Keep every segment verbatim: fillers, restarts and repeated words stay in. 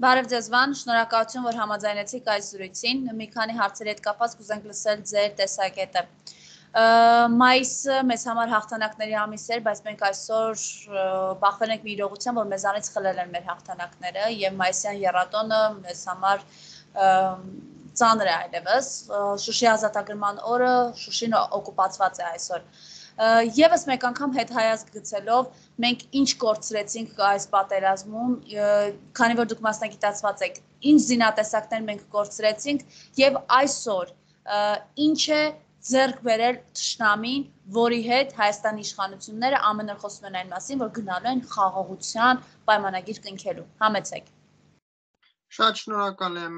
Բարև ձեզ Վան, շնորհակալություն, որ համաձայնեցիք այս զրույցին, մի քանի հարցերի հետ կապված կուզենք լսել ձեր տեսակետը։ Մայիսը մեզ համար հաղթանակների ամիս էր, բայց մենք այսօր բախվել ենք մի իրողության, որ մեզանից խլել են մեր հաղթանակները եւ մայիսյան եռատոնը մեզ համար ծանր է այլևս։ Շուշի ազատագրման օրը, Շուշին օկուպացված է այսօր։ Եվս մեկ անգամ հետ հայացք գցելով մենք ինչ կորցրեցինք այս պատերազմում, քանի որ դուք մասնագիտացված եք, ինչ զինատեսակներ մենք կորցրեցինք եւ այսօր ինչ է ձեռք բերել թշնամին, որի հետ Հայաստանի իշխանությունները ամեն օր խոսում են այն մասին, որ գնալու են խաղաղության պայմանագիր կնքելու։ Համեցեք։ Շատ շնորհակալ եմ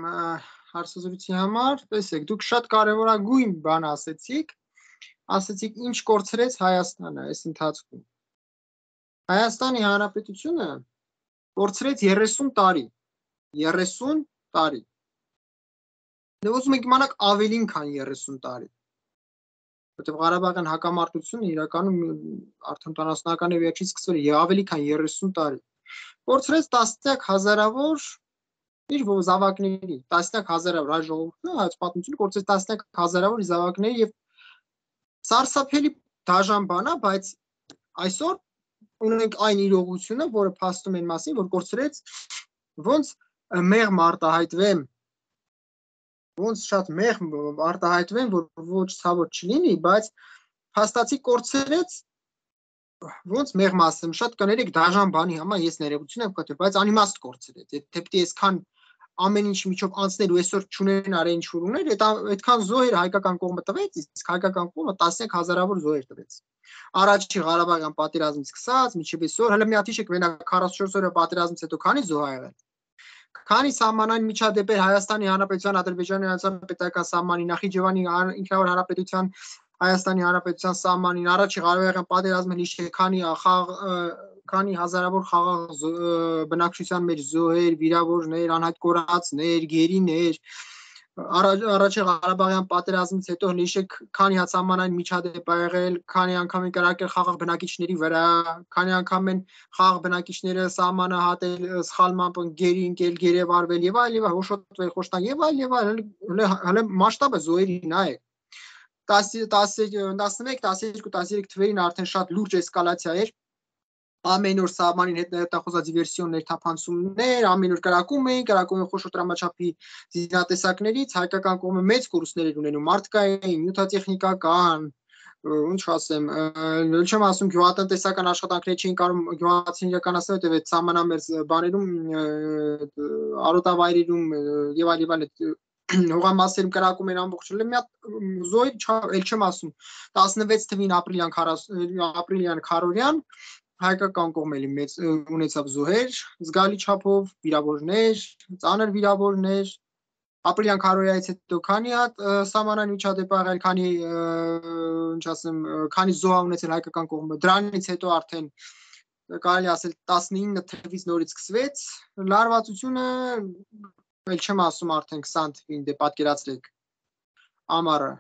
հարցազրույցի համար։ Տեսեք, դուք շատ կարևորագույն բան ասեցիք։ Ասեցիք ինչ կորցրեց Հայաստանը այս ընթացքում։ Հայաստանի Հանրապետությունը կորցրեց երեսուն տարի, երեսուն տարի։ Դե ուզում եք իմանաք ավելին քան երեսուն տարի։ Որտեղ Ղարաբաղյան հակամարտությունը իրականում արդեն ութանասունականների վերջից սկսվել է ավելի քան երեսուն տարի։ Կորցրեց տասնյակ հազարավոր իր զավակների, տասնյակ հազարավոր հայ ժողովուրդը, հայ պատմությունը կորցրեց տասնյակ հազարավոր զավակների եւ սարսափելի դաժան բան է, բայց այսօր ունենք այն իրողությունը, որը փաստում են մասին, որ կորցրեց ոնց մեղմ արտահայտվեմ, ոնց շատ մեղմ արտահայտվեմ, որ ոչ ցավոտ չլինի, բայց փաստացի կորցրեց ոնց մեղմ ասեմ, շատ կներեք դաժան բանի համար ես ներողություն եմ խնդրում, բայց անիմաստ կորցրեց, եթե դեպի այսքան ամեն ինչ միջով անցնել ու այսօր չունեն արեն ինչ որ ուներ, այդքան զոհեր հայկական կողմը տվեց, իսկ հայկական կողմը տասնյակ հազարավոր զոհեր տվեց։ Առաջի Ղարաբաղյան պատերազմից սկսած, մինչև այսօր, հələ մի հատ հիշեք, մենակ քառասունչորս օրյա պատերազմից հետո քանի զոհ ա եղել։ Քանի սահմանային միջադեպեր Հայաստանի Հանրապետության, Ադրբեջանի Հանրապետական սահմանի, Նախիջևանի ինքնավար հանրապետության, Հայաստանի Հանրապետության սահմանին, առաջի Ղարաբաղյան պատերազմը հիշեք, քանի քանի հազարավոր խաղաղ բնակչության մեջ զոհեր, վիրավորներ, անհայտ կորածներ, գերիներ, առաջի Ղարաբաղյան պատերազմից հետո հիշեք, քանի հացամանային միջադեպ ա եղել, քանի անգամ են կրակել խաղաղ բնակիչների վրա, քանի անգամ են խաղաղ բնակիչները սահմանը հատել, սխալմամբ գերի ընկել, գերեվարվել եւ այլ եւ այլ, հոշոտվել, խոշտան եւ այլ եւ այլ, հələ մասշտաբը զոհերի նայեք։ տասնմեկ, տասներկու, տասներեք թվերին արդեն շատ լուրջ էսկալացիա էր։ Ամեն օր սահմանին հետ ներտախոզած դիվերսիոն ներթափանցումներ, ամեն օր կրակում էին, կրակում էին խոշոր դրամաչափի զինատեսակներից, հայկական կողմը մեծ կորուստներ էր ունենում, մարդկային, նյութատեխնիկական, ինչ ասեմ, չեմ ասում գյուղատնտեսական աշխատանքներ չէին կարող գյուղացին իրականացնել, որտեղ այդ սահմանամերձ բաներում, արոտավայրերում եւ այլ եւ այլ հողամասերում կրակում են ամբողջը, մի հատ զոհեր, էլ չեմ ասում, տասնվեց թվին ապրիլյան ապրիլյան քարորյան հայկական կողմերի մեծ ունեցավ զոհեր, զգալի չափով վիրավորներ, ծանր վիրավորներ, ապրիլյան քարորյայից հետո քանի հատ սահմանային միջադեպ ա եղել, քանի ինչ ասեմ, քանի զոհ ա ունեցել հայկական կողմը, դրանից հետո արդեն կարելի ասել տասնինը թվից նորից սկսվեց, լարվածությունը, էլ չեմ ասում արդեն քսան թվին, դե պատկերացրեք ամառը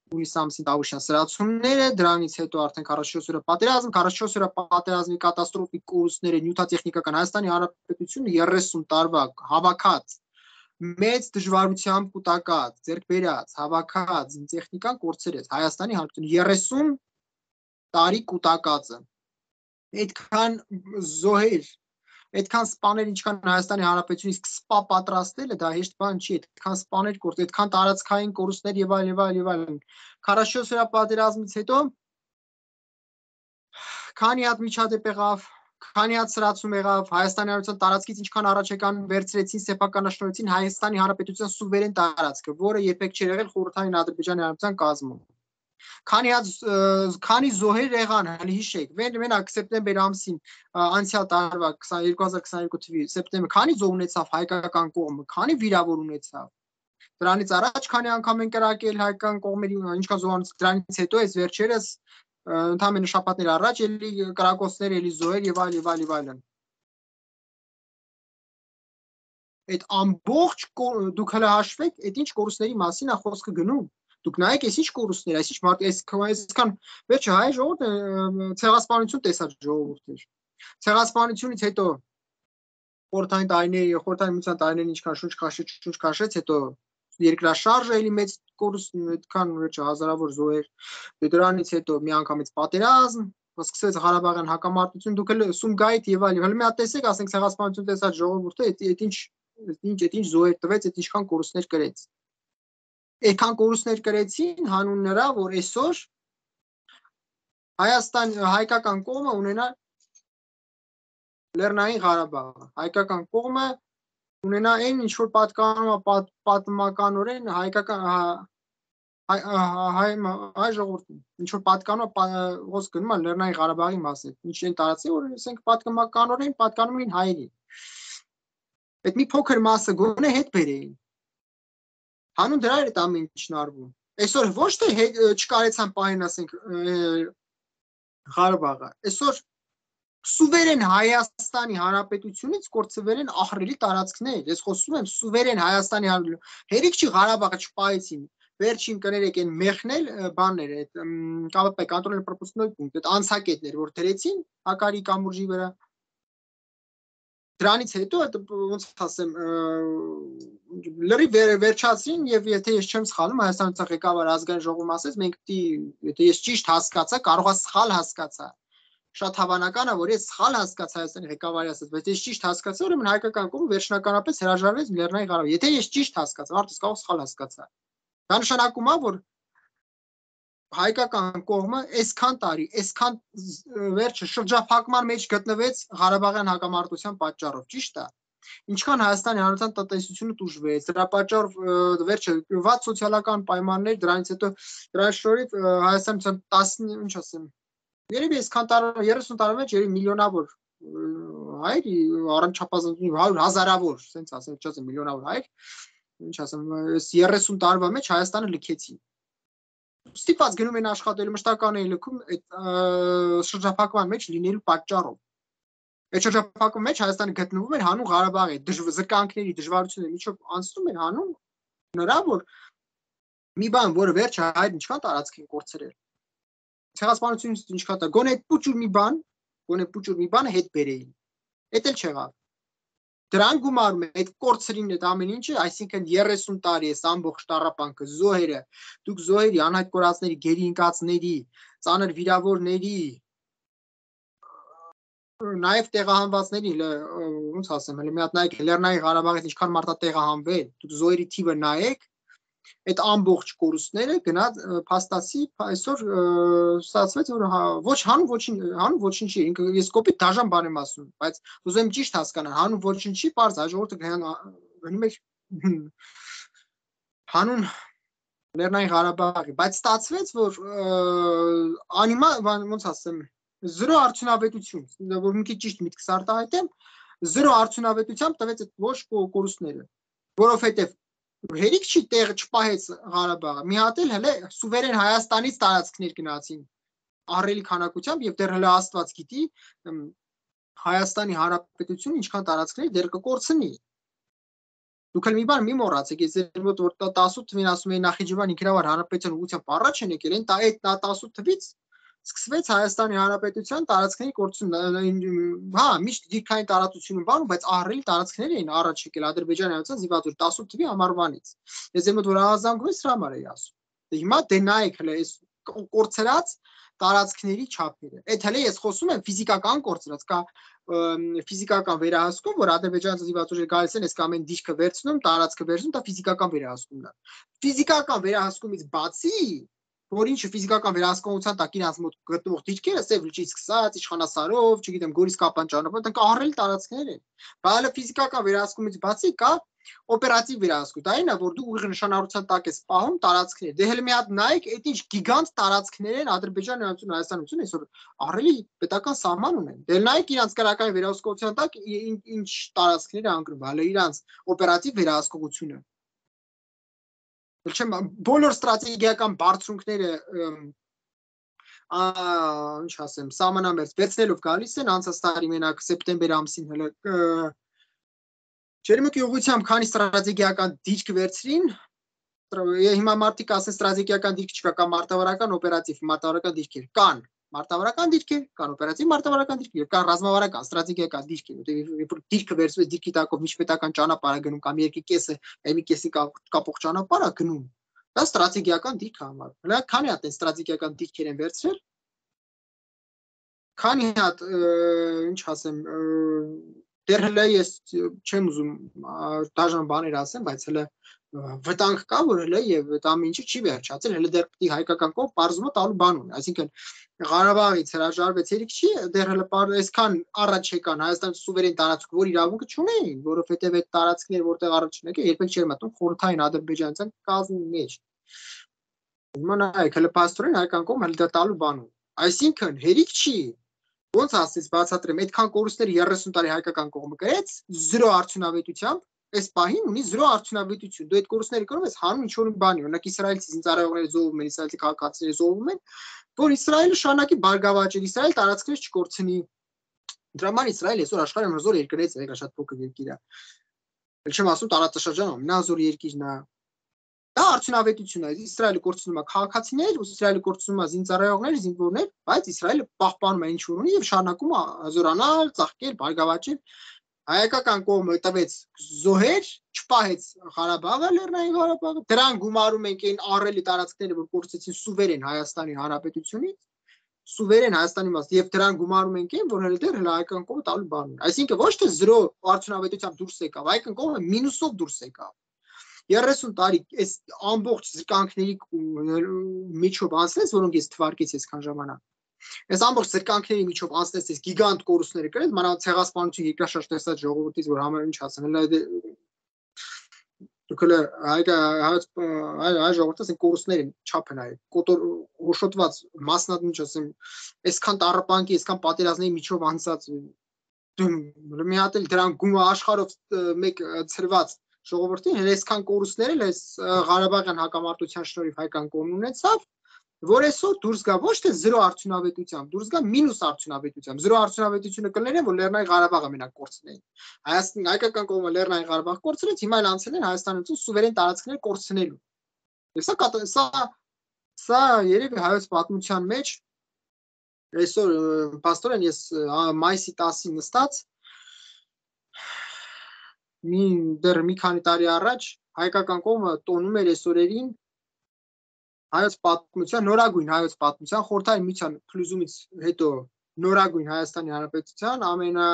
հուլիս ամսին Տավուշյան սրացումները, դրանից հետո արդեն քառասունչորս օրյա պատերազմ, քառասունչորս օրյա պատերազմի կատաստրոֆիկ կորուստները, նյութատեխնիկական Հայաստանի Հանրապետությունը երեսուն տարվա հավաքած մեծ դժվարությամբ կուտակած, ձեռք բերած, հավաքած տեխնիկան կորցրեց Հայաստանի Հանրապետությունը երեսուն տարի կուտակածը։ Այդքան զոհեր, այդքան սպաներ, ինչքան Հայաստանի Հանրապետությունից իսկ սպա պատրաստելը դա հեշտ բան չի, այդքան սպաներ կորց, այդքան տարածքային կորուստներ եւ այլ եւ այլ եւ այլ։ քառասունչորս օրյա պատերազմից հետո քանի հատ միջադեպ եղավ, քանի հատ սրացում եղավ, Հայաստանի Հանրապետության տարածքից ինչքան առաջ եկան վերցրեցին, սեփականաշնորհեցին Հայաստանի Հանրապետության սուվերեն տարածքը, որը երբեք չէր եղել խորհրդային Ադրբեջանի Հանրապետության կազմում։ Քանի հատ քանի զոհեր եղան, հələ հիշեք, մենակ սեպտեմբեր ամսին անցյալ տարվա երկու հազար քսաներկու թվականի սեպտեմբեր, քանի զոհ ունեցավ հայկական կողմը, քանի վիրավոր ունեցավ։ Դրանից առաջ քանի անգամ են կրակել հայկական կողմերի, ինչքան զոհ ունեցավ, դրանից հետո այս վերջերս ընդամենը շաբաթներ առաջ էլի կրակոցներ, էլի զոհեր եւ այլ եւ այլ եւ այլն։ Այդ ամբողջ դուք հələ հաշվեք, այդ ինչ կորուստների մասին է խոսքը գնում։ Դուք նայեք, այս ինչ կորուստներ, այս ինչ մարդ, այսքան վերջը հայ ժողովուրդը ցեղասպանություն տեսած ժողովուրդ էր։ Ցեղասպանությունից հետո խորհրդային տարիների, խորհրդային միության տարիներին ինչքան շունչ քաշեց, շունչ քաշեց, հետո երկրաշարժը էլի մեծ կորուստ այդքան հազարավոր զոհեր, դրանից հետո միանգամից պատերազմ, սկսվեց Ղարաբաղյան հակամարտություն, դուք էլ Սումգայիթ եւ այլն, հələ մի հատ տեսեք, ասենք ցեղասպանություն տեսած ժողովուրդը, այդ ինչ ինչ այդ ինչ զոհեր տվեց, այդ ինչքան կորուստներ կրեց։ Այդքան կորուստներ կրեցին հանուն նրա, որ այսօր Հայաստան հայկական կողմը ունենա Լեռնային Ղարաբաղը, հայկական կողմը ունենա այն ինչ որ պատկանում է պատմականորեն հայկական հայ հայ ժողովրդին, ինչ որ պատկանում է ոնց գնում է Լեռնային Ղարաբաղի մասին, ինչ են տարածի, որ ասենք պատմականորեն պատկանում են հայերին։ Այդ մի փոքր մասը գոնե հետ բերեին։ Հանուն դրա էր այդ ամեն ինչն արվում։ Այսօր ոչ թե չկարեցան պահին, ասենք Ղարաբաղը, այսօր սուվերեն Հայաստանի Հանրապետությունից կորցվել են ահռելի տարածքներ։ Ես խոսում եմ սուվերեն Հայաստանի հերիք չի Ղարաբաղը չպահեցին։ Վերջին կներեք են մեղնել բաններ, այդ ԿՊՊ կոնտրոլ-պրոպուսկնոյ պունկտ, այդ անցակետներ, որ դրեցին Հակարի կամուրջի վրա։ Դրանից հետո այդ ոնց ասեմ լրի վերջացին եւ եթե ես չեմ սխալվում Հայաստանի ղեկավար ազգային ժողովում ասեց մենք պիտի եթե ես ճիշտ հասկացա կարող է սխալ հասկացա շատ հավանական է որ ես սխալ հասկացա Հայաստանի ղեկավարի ասած բայց ես ճիշտ հասկացա ուրեմն հայկական կողմը վերջնականապես հրաժարվեց Լեռնային Ղարաբաղ եթե ես ճիշտ հասկացա արդյոք կարող սխալ հասկացա դա նշանակում է որ հայկական կողմը այսքան տարի, այսքան վերջը շրջափակման մեջ գտնվեց Ղարաբաղյան հակամարտության պատճառով, ճիշտ է։ Ինչքան Հայաստանի Հանրության տնտեսությունը տուժվեց, դրա պատճառով վերջը վատ սոցիալական պայմաններ, դրանից հետո դրա շնորհիվ Հայաստանը տասը, ինչ ասեմ, երևի այսքան տարի, երեսուն տարի մեջ երևի միլիոնավոր հայր, առանց չափազանցի հարյուր հազարավոր, ասենց ասեմ, չասեմ միլիոնավոր հայր, ինչ ասեմ, երեսուն տարվա մեջ Հայաստանը լքեցին։ Ստիպված գնում են աշխատելու մշտական են լքում այդ շրջափակման մեջ լինելու պատճառով։ Այդ շրջափակման մեջ Հայաստանը գտնվում էր հանուն Ղարաբաղի զրկանքների դժվարությունների միջով անցնում էր հանուն նրա որ մի բան որը վերջը հայր ինչքան տարածք են կորցրել։ Ցեղասպանությունից ինչքան տա գոնե այդ փուճուր մի բան, գոնե փուճուր մի բանը հետ բերեին։ Էդ էլ չեղավ։ Դրան գումարում է այդ կորցրին այդ ամեն ինչը, այսինքն երեսուն տարի էս ամբողջ տառապանքը, զոհերը, դուք զոհերի, անհայտ կորածների, գերի ընկածների, ծանր վիրավորների, նաև տեղահանվածների, ոնց ասեմ, հələ մի հատ նայեք Լեռնային Ղարաբաղից ինչքան մարդ է տեղահանվել, դուք զոհերի թիվը նայեք, այդ ամբողջ կորուստները գնաց փաստացի այսօր ստացվեց որ ոչ հանուն ոչինչ հանուն ոչինչի ինքը ես կոպիտ դաժան բան եմ ասում բայց ուզում եմ ճիշտ հասկանալ հանուն ոչինչի բարձ հաջորդը գնում է հանուն Լեռնային Ղարաբաղի բայց ստացվեց որ անիմա ոնց ասեմ զրո արդյունավետություն որ մի քիչ ճիշտ միտքս արտահայտեմ զրո արդյունավետությամբ տվեց այդ ոչ կորուստները որովհետև հերիք չի տեղը չպահեց Ղարաբաղը մի հատ էլ հələ սուվերեն Հայաստանից տարածքներ գնացին ահռելի քանակությամբ եւ դեռ հələ Աստված գիտի Հայաստանի Հանրապետությունը ինչքան տարածքներ դեռ կկորցնի դուք էլ մի բան մի մոռացեք ես որ տասութ թվին ասում էի Նախիջևան ինքնավար հանրապետության ուղղությամբ առաջ են եկել այն այդ տասութ թվից սկսվեց Հայաստանի Հանրապետության տարածքների կորցում հա միշտ դիրքային տարածություն բանում բայց ահռելի տարածքներ էին առաջ եկել Ադրբեջանի հայության զիվաձոր տասութ թվի ամառվանից ես եմ որ ահազանգում ես դրա համար էի ասում հիմա դե նայեք հələ այս կորցրած տարածքների չափերը այդ հələ ես խոսում եմ ֆիզիկական կորցրած կա ֆիզիկական վերահսկում որ Ադրբեջանի զիվաձորը գալիս են այս կամ այն դիրքը վերցնում տարածքը վերցնում դա ֆիզիկական վերահսկումն է ֆիզիկական վերահսկումից բացի որ ինչը ֆիզիկական վերահսկողության տակ իրաց մոտ գտնվող դիրքերը Սև լճից սկսած Իշխանասարով, չգիտեմ, Գորիս Կապան ճանապարհով, դրանք ահռելի տարածքներ են։ Բայց ֆիզիկական վերահսկումից բացի կա օպերատիվ վերահսկում։ Դա այն է, որ դու ուղիղ նշանառության տակ ես պահում տարածքներ։ Դե հələ մի հատ նայեք, այդ ինչ գիգանտ տարածքներ են Ադրբեջանի հանրություն, Հայաստանություն այսօր ահռելի պետական սահման ունեն։ Դե նայեք իրանց քրական վերահսկողության տակ ինչ տարածքներ է անկրում, հələ իրանց օպերատիվ վերահսկողությունը։ Չեմ բոլոր ստրատեգիական բարձունքները ինչ ասեմ սահմանամերձ վերցնելով գալիս են անցած տարի մենակ սեպտեմբեր ամսին հələ Ջերմուկի ուղղությամբ քանի ստրատեգիական դիրք վերցրին հիմա մարդիկ ասեն ստրատեգիական դիրք չկա կամ մարտավարական օպերատիվ մարտավարական դիրքեր կան մարտավարական դիրքեր, կան օպերատիվ մարտավարական դիրքեր, եւ կան ռազմավարական, ստրատեգիական դիրքեր, որտեղ երբ որ դիրքը վերցվում է դիրքի տակով միջպետական ճանապարհ է գնում կամ երկի կեսը, այլ մի կեսի կապող ճանապարհ է գնում, դա ստրատեգիական դիրք է համարվում։ Հələ քանի հատ են ստրատեգիական դիրքեր են վերցրել, քանի հատ, ինչ ասեմ, դեռ հələ ես չեմ ուզում դաժան բաներ ասեմ, բայց հələ վտանգ կա, որ հələ եւ այդ ամեն ինչը չի վերջացել, հələ դեռ պիտի հայկական կողմ բարձումը տալու բան ունի, այսինքն Ղարաբաղից հրաժարվեց երիք չի, դեռ հələ այսքան առաջ եկան Հայաստանի սուվերեն տարածք, որ իրավունքը չունեին, որովհետեւ այդ տարածքները, որտեղ առաջին եկել, երբեք չէր մտնում խորհրդային ադրբեջանցական կազմի մեջ։ Հիմա նայեք, հələ փաստորեն հայկական կողմը հələ դա տալու բան ունի, այսինքն հերիք չի, ոնց ասես բացատրեմ, այդքան կորուստներ երեսուն տարի հայկական կողմը գրեց, զրո արդյունավետությամբ Այս պահին ունի զրո արդյունավետություն։ Դու այդ կորուստները կրում ես հանուն ինչ-որ բանի, օրինակ իսրայելցի զինծառայողները զոհվում են, իսրայելցի քաղաքացիները զոհվում են, որ Իսրայելը շարունակի բարգավաճել, Իսրայել տարածքներ չկորցնի։ Դրա համար Իսրայելը այսօր աշխարհի ամենազոր երկրներից է, շատ փոքր երկիր է։ Էլ չեմ ասում տարածաշրջանում ամենազոր երկիրն է։ Դա արդյունավետություն է։ Իսրայելը կորցնում է քաղաքացիներ, Իսրայելը կորցնում է զինծառայողներ, զինվորներ, բայց Իսրայելը պահպանում է ինչ որ ունի եւ շարունակում է զորանալ, ծաղկել, բարգավաճել։ Հայկական կողմը տվեց զոհեր, չպահեց Ղարաբաղը, Լեռնային Ղարաբաղը, դրան գումարում ենք այն առելի տարածքները, որ կորցրեցին սուվերեն Հայաստանի Հանրապետությունից, սուվերեն Հայաստանի մաս, եւ դրան գումարում ենք այն, որ հələ դեռ հələ հայկական կողմը տալու բան ունի։ Այսինքն ոչ թե զրո արդյունավետությամբ դուրս եկավ, հայկական կողմը մինուսով դուրս եկավ։ երեսուն տարի այս ամբողջ զրկանքների միջով անցնեց, որոնք ես թվարկեցի այսքան ժամանակ։ Այս ամբողջ զրկանքների միջով անցնեց այս գիգանտ կորուստները կրել, մանավանդ ցեղասպանություն երկրաշարժ տեսած ժողովրդից, որ համար ինչ ասեմ, հələ դուք հələ հայ հայ ժողովրդից են կորուստների չափը նայեք, կոտոր հոշոտված մասնատ ինչ ասեմ, այսքան տառապանքի, այսքան պատերազմների միջով անցած մի հատ էլ դրան գումա աշխարհով մեկ ծրված ժողովրդին հենց այսքան կորուստներ էլ այս Ղարաբաղյան հակամարտության շնորհիվ հայկական կողմն ունեցավ, որ այսօր դուրս գա ոչ թե զրո արդյունավետությամբ, դուրս գա մինուս արդյունավետությամբ։ Զրո արդյունավետությունը կլներ են, որ Լեռնային Ղարաբաղը մենակ կորցնեին։ Հայաստան հայկական կողմը Լեռնային Ղարաբաղ կորցրեց, հիմա էլ անցել են Հայաստանից սուվերեն տարածքներ կորցնելու։ Եվ սա սա սա երևի հայոց պատմության մեջ այսօր պաստորեն ես մայիսի տասին նստած մի դեռ մի քանի տարի առաջ հայկական կողմը տոնում էր այսօրերին հայոց պատմության նորագույն հայոց պատմության խորհրդային միության փլուզումից հետո նորագույն Հայաստանի Հանրապետության ամենա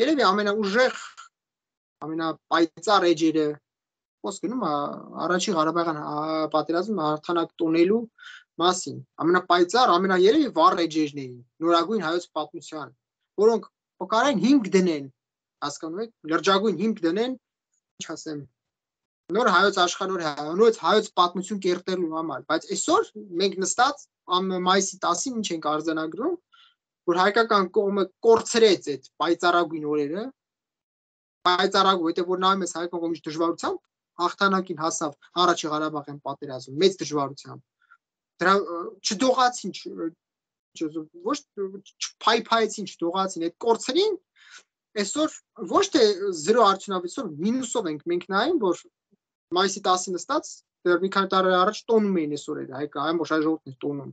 երևի ամենաուժեղ ամենապայծառ էջերը խոսք գնում է առաջին Ղարաբաղյան պատերազմը հաղթանակ տոնելու մասին ամենապայծառ ամենաերևի վառ էջերն էին նորագույն հայոց պատմության որոնք փոխարեն հիմք դնեն հասկանում եք լրջագույն հիմք դնեն ինչ ասեմ նոր հայոց աշխարհոր նորից հայոց պատմություն կերտելու համար, բայց այսօր մենք նստած մայիսի տասին ինչ ենք արձանագրում, որ հայկական կողմը կորցրեց այդ պայծառագույն օրերը, պայծառագույն, որտեղ որ նայում ես հայկական կողմի դժվարությամբ հաղթանակին հասավ առաջի Ղարաբաղյան պատերազմում, մեծ դժվարությամբ։ Դրա չդողացին, ոչ չփայփայեցին, չդողացին, այդ կորցրին, այսօր ոչ թե զրո արդյունավետությամբ մինուսով ենք մենք նայում, որ մայիսի տասին նստած դեռ մի քանի տարի առաջ տոնում էին այս օրերը, հայկական ամբողջ ժողովուրդն է տոնում։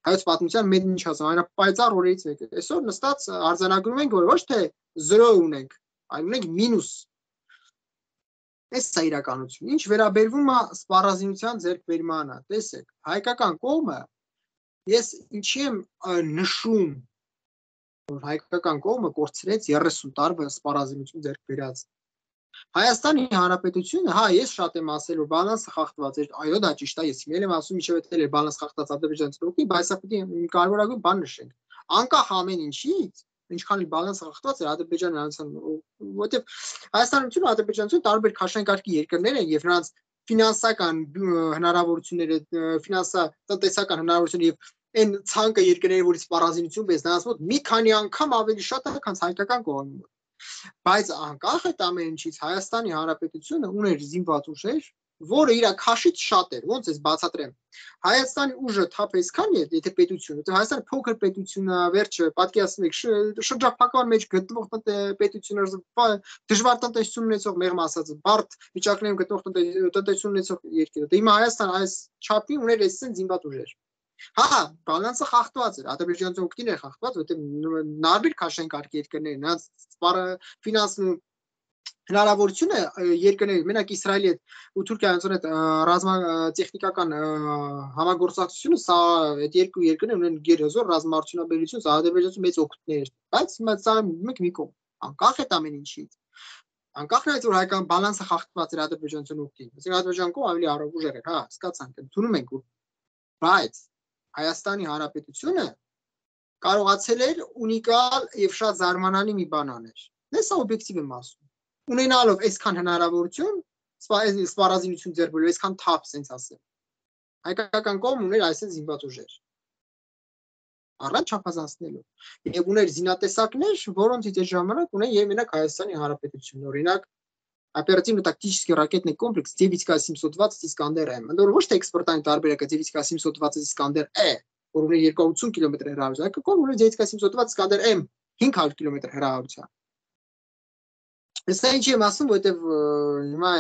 Հայոց պատմության մեծ ինչ ասեմ, ամենապայծառ օրերից մեկը։ Այսօր նստած արձանագրում ենք, որ ոչ թե զրո ունենք, այլ ունենք մինուս։ Այս է իրականությունը։ Ինչ վերաբերվում է սպառազինության ձեռքբերմանը, տեսեք, հայկական կողմը ես ինչի եմ նշում, որ հայկական կողմը կորցրեց երեսուն տարվա սպառազինություն ձեռք բերած։ Հայաստանի Հանրապետությունը, հա, ես շատ եմ ասել, որ բալանսը խախտված էր, այո, դա ճիշտ է, ես իմել եմ ասում, ինչև էտել էր բալանս խախտած ադրբեջանցի դեպքում, բայց սա պիտի կարևորագույն բան նշենք։ Անկախ ամեն ինչից, ինչքան էլ բալանսը խախտված էր Ադրբեջանը անցան, որովհետև Հայաստանն ու Ադրբեջանությունը տարբեր քաշանկարգի երկրներ են եւ նրանց ֆինանսական հնարավորությունները, ֆինանսա տնտեսական հնարավորությունները եւ այն ցանկը երկրների, որից սպառազինություն բես, նրանց մոտ մի քանի անգամ ավելի շատ է, քան հայկական կողմի մոտ։ Բայց անկախ այդ ամեն ինչից Հայաստանի Հանրապետությունը ուներ զինված ուժեր, որը իր քաշից շատ էր, ոնց էս բացատրեմ։ Հայաստանի ուժը թափ այսքան է, եթե պետությունը, թե Հայաստանը փոքր պետություն է, վերջը պատկերացնում եք շրջափակման մեջ գտնվող պետություններ, դժվար տնտեսություն ունեցող, մեղմ ասած, բարդ վիճակներում գտնվող տնտեսություն ունեցող երկիր։ Դե հիմա Հայաստանը այս չափի ուներ այսպես զինված ուժեր։ Հա, բալանսը խախտված էր, ադրբեջանցի օգտին է խախտված, որտեղ նարմիր քաշեն կարգ երկրներ, նրանց սպարը ֆինանս հնարավորությունը երկրների, մենակ Իսրայելի հետ ու Թուրքիայից հետ ռազմա տեխնիկական համագործակցությունը, սա այդ երկու երկրներ ունեն գերազոր ռազմաարդյունաբերություն, սա ադրբեջանցի մեծ օգուտներ, բայց սա մեկ մի կողմ, անկախ է ամեն ինչից, անկախ նրանից որ հայկական բալանսը խախտված էր ադրբեջանցի օգտին, այսինքն ադրբեջանը կողմ ավելի առողջ էր, հա, հասկացանք, ընդունում ենք, բայց Հայաստանի Հանրապետությունը կարողացել էր ունիկալ եւ շատ զարմանալի մի բան անել։ Դա սա օբյեկտիվ եմ ասում։ Ունենալով այսքան հնարավորություն, սպառազինություն ձեռք բերել, այսքան թափ, sense ասեմ։ Հայկական կողմն ուներ այսպես զինված ուժեր։ Առանց չափազանցնելու։ Եվ ուներ զինատեսակներ, որոնցից այդ ժամանակ ունեն եւ մենակ Հայաստանի Հանրապետությունն, օրինակ оперативно-тактический ракетный комплекс девять ка семьсот двадцать Искандер-М, ընդ որում ոչ թե էքսպորտային տարբերակը девять ка семьсот двадцать Искандер-E, որ ունի երկու հազար ութսուն կիլոմետր հեռավորություն, այլ կողմ ունի девять ка семьсот двадцать Искандер-M հինգ հարյուր կիլոմետր հեռավորության։ Սա ինչ եմ ասում, որովհետև հիմա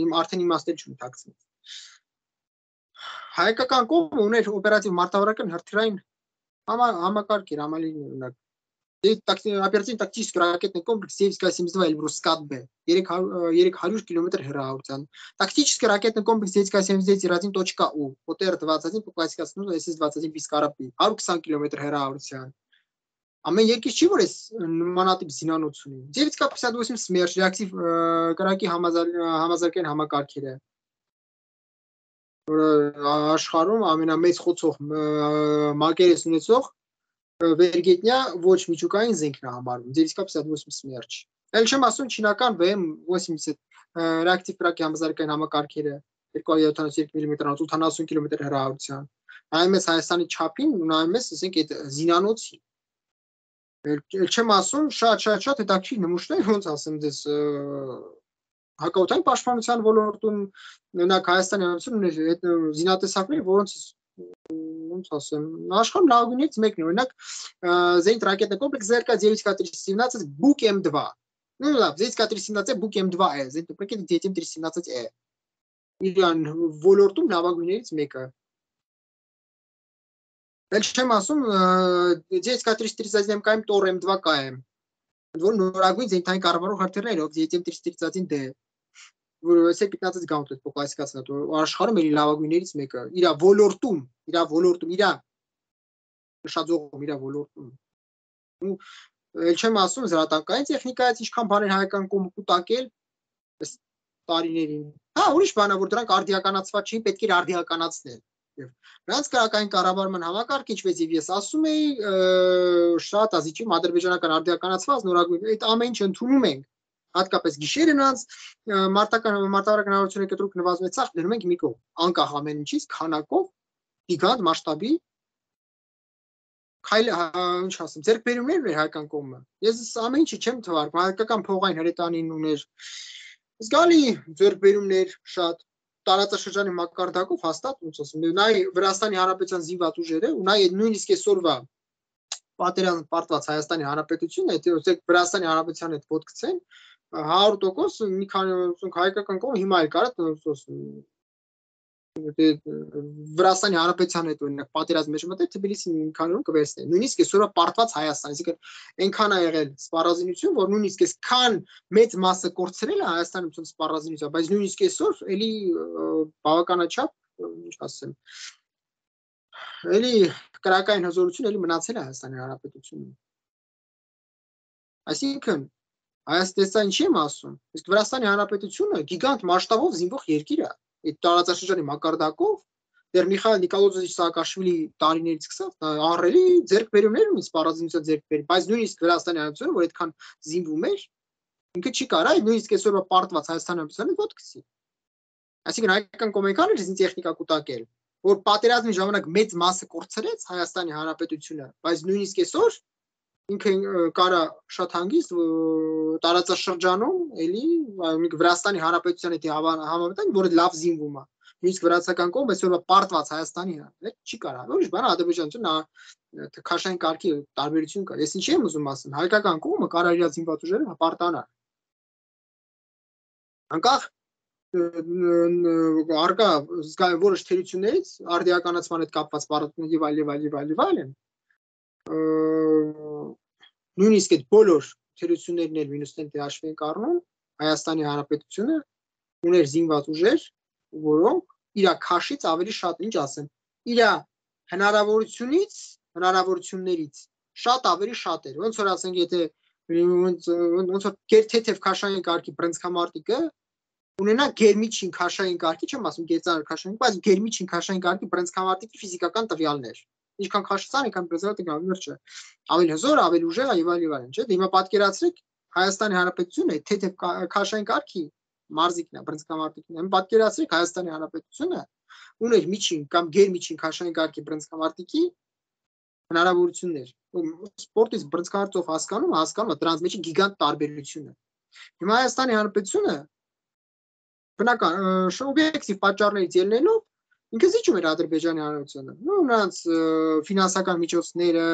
իմ արդեն իմաստել չունի տակցնից։ Հայկական կողմը ուներ օպերատիվ մարտավարական հրթիռային համակարգեր, համալիրներ, օրինակ оперативно-тактический ракетный комплекс девять ка семьдесят два Эльбрус-Скат-Б, երեք հարյուր կիլոմետր հեռավորության, тактический ракетный комплекс девять ка семьдесят девять один точка U, О Т Р двадцать один по классификации эс эс двадцать один Пискարապի, հարյուր քսան կիլոմետր հեռավորության։ Ամեն երկիր չի որ էս նմանատիպ զինանոց ունի։ девять ка пятьдесят восемь Смерч реактив կրակի համազարգային համակարգերը, որը աշխարհում ամենամեծ խոցող մակերես ունեցող վերգետնյա ոչ միջուկային զենքն է համարվում, девять ка пятьдесят восемь Смерч։ Էլ չեմ ասում չինական V M ութսուն реактив կրակի համազարգային համակարգերը երկու հարյուր յոթանասուն երկու միլիմետր ութանասուն կիլոմետր հեռավորության։ Նայում ես Հայաստանի չափին ու նայում ես, ասենք, այդ զինանոցի։ Էլ չեմ ասում շատ շատ շատ հետաքրքիր նմուշներ, ոնց ասեմ դες հակաօդային պաշտպանության ոլորտում օրինակ Հայաստանի Հանրապետությունն ունի այդ զինատեսակներ, որոնց ոնց ասեմ, աշխարհում լավագույններից մեկն է, օրինակ зенит ракетный комплекс З Р К девять ка триста семнадцать Бук М два. Ну да, девять ка триста семнадцать Бук М два է, зенит ракета девять М триста семнадцать E։ Իրան ոլորտում լավագույններից մեկը։ Էլ չեմ ասում девять ка триста тридцать один М К M Тор М два К M, որ նորագույն զենիթային կառավարող հրթիռներով девять М триста тридцать один D, որը С пятнадцать Gauntlet по классификации, աշխարհում էլի լավագույններից մեկը։ Իրա ոլորտում, իրա ոլորտում, իրա նշաձողում, իրա ոլորտում։ Ու էլ չեմ ասում զրատանկային տեխնիկայից ինչքան բաներ հայկական կողմը կուտակել այս տարիներին։ Հա, ուրիշ բան է, որ դրանք արդիականացված չէին, պետք էր արդիականացնել։ Եվ նրանց կրակային կառավարման համակարգ ինչպես եւ ես ասում էի, շատ ազիջում ադրբեջանական արդիականացված նորագույն այդ ամեն ինչ ընդունում ենք, հատկապես գիշերը նրանց մարտական մարտավարական հնարավորությունների կտրուկ նվազեցավ, դնում ենք մի կողմ, անկախ ամեն ինչից, քանակով, գիգանտ մասշտաբի քայլ, ինչ ասեմ, ձեռքբերումներ էր հայկական կողմը։ Ես ամեն ինչի չեմ թվարկում, հայկական փողային հրետանին ուներ զգալի ձեռքբերումներ շատ տարածաշրջանի մակարդակով հաստատ ոնց ասեմ, նայ Վրաստանի Հանրապետության զինված ուժերը ու նայ նույնիսկ այսօրվա պատերազմ պարտված Հայաստանի Հանրապետությունն է, թե Վրաստանի Հանրապետության հետ ոտքցեն հարյուր տոկոս մի քանի հայկական կողմ հիմա էլ կարա ոնց ասեմ Վրաստանի Հանրապետության հետ օրինակ պատերազմ մեջ մտել Թբիլիսին մի քանի օր կվերցնի։ Նույնիսկ այսօրվա պարտված Հայաստան, այսինքն այնքան է եղել սպառազինություն, որ նույնիսկ այսքան մեծ մասը կորցրել է Հայաստանի սպառազինության, բայց նույնիսկ այսօր էլի բավականաչափ, ինչ ասեմ, էլի կրակային հզորություն էլի մնացել է Հայաստանի Հանրապետությունում։ Այսինքն Հայաստանը ինչի եմ ասում, իսկ Վրաստանի Հանրապետությունը գիգանտ մասշտաբով զինվող երկիր է։ Այդ տարածաշրջանի մակարդակով դեռ Միխայել Նիկոլոզովիչ Սաակաշվիլի տարիներից սկսած ահռելի ձեռքբերումներ ունի սպառազինության ձեռքբերում, բայց նույնիսկ Վրաստանի Հանրապետությունը, որ այդքան զինվում էր, ինքը չի կարա նույնիսկ այսօրվա պարտված Հայաստանի Հանրապետությանը ոտքցի։ Այսինքն հայկական կոմենտարը զին տեխնիկա կուտակել, որ պատերազմի ժամանակ մեծ մասը կորցրեց Հայաստանի Հանրապետությունը, բայց նույնիսկ այսօր ինքը կարա շատ հանգիստ տարածաշրջանում էլի Վրաստանի Հանրապետության հետ համեմատենք, որը լավ զինվում է։ Նույնիսկ վրացական կողմը այսօրվա պարտված Հայաստանի հետ չի կարա։ Ուրիշ բան ադրբեջանությունը քաշային կարգի տարբերություն կա։ Ես ինչի եմ ուզում ասեմ, հայկական կողմը կարա իր զինված ուժերը հպարտանա։ Անկախ արկա որոշ թերություններից արդիականացման հետ կապված պարարտություններ եւ այլ եւ այլ եւ այլ եւ այլն նույնիսկ այդ բոլոր թերություններն էլ մինուս տենտի հաշվի ենք առնում Հայաստանի Հանրապետությունը ուներ զինված ուժեր որոնք իր քաշից ավելի շատ ինչ ասեմ իր հնարավորությունից հնարավորություններից շատ ավելի շատ էր ոնց որ ասենք եթե ոնց որ թեթև քաշային կարգի բրնցքամարտիկը ունենա գերմիջին քաշային կարգի, չեմ ասում գերծանր քաշային, բայց գերմիջին քաշային կարգի բրնցքամարտիկի ֆիզիկական տվյալներ։ Ինչքան քաշծան, այնքան բրնցքամարտիկը ավելի չէ։ Ավելի հզոր, ավելի ուժեղ եւ այլ եւ այլն, չէ՞։ Հիմա պատկերացրեք Հայաստանի Հանրապետությունը թեթև քաշային կարգի մարզիկն է, բրնցքամարտիկն է։ Հիմա պատկերացրեք Հայաստանի Հանրապետությունը ուներ միջին կամ գերմիջին քաշային կարգի բրնցքամարտիկի հնարավորություններ։ Սպորտից բրնցքամարտով հասկանում, հասկանում է դրանց մեջ գիգանտ տարբերությունը։ Հիմա Հայաստանի Հանրապետությունը բնական օբյեկտիվ պատճառներից ելնելով ինքը զիջում էր Ադրբեջանի Հանրապետությանը։ Ու նրանց ֆինանսական միջոցները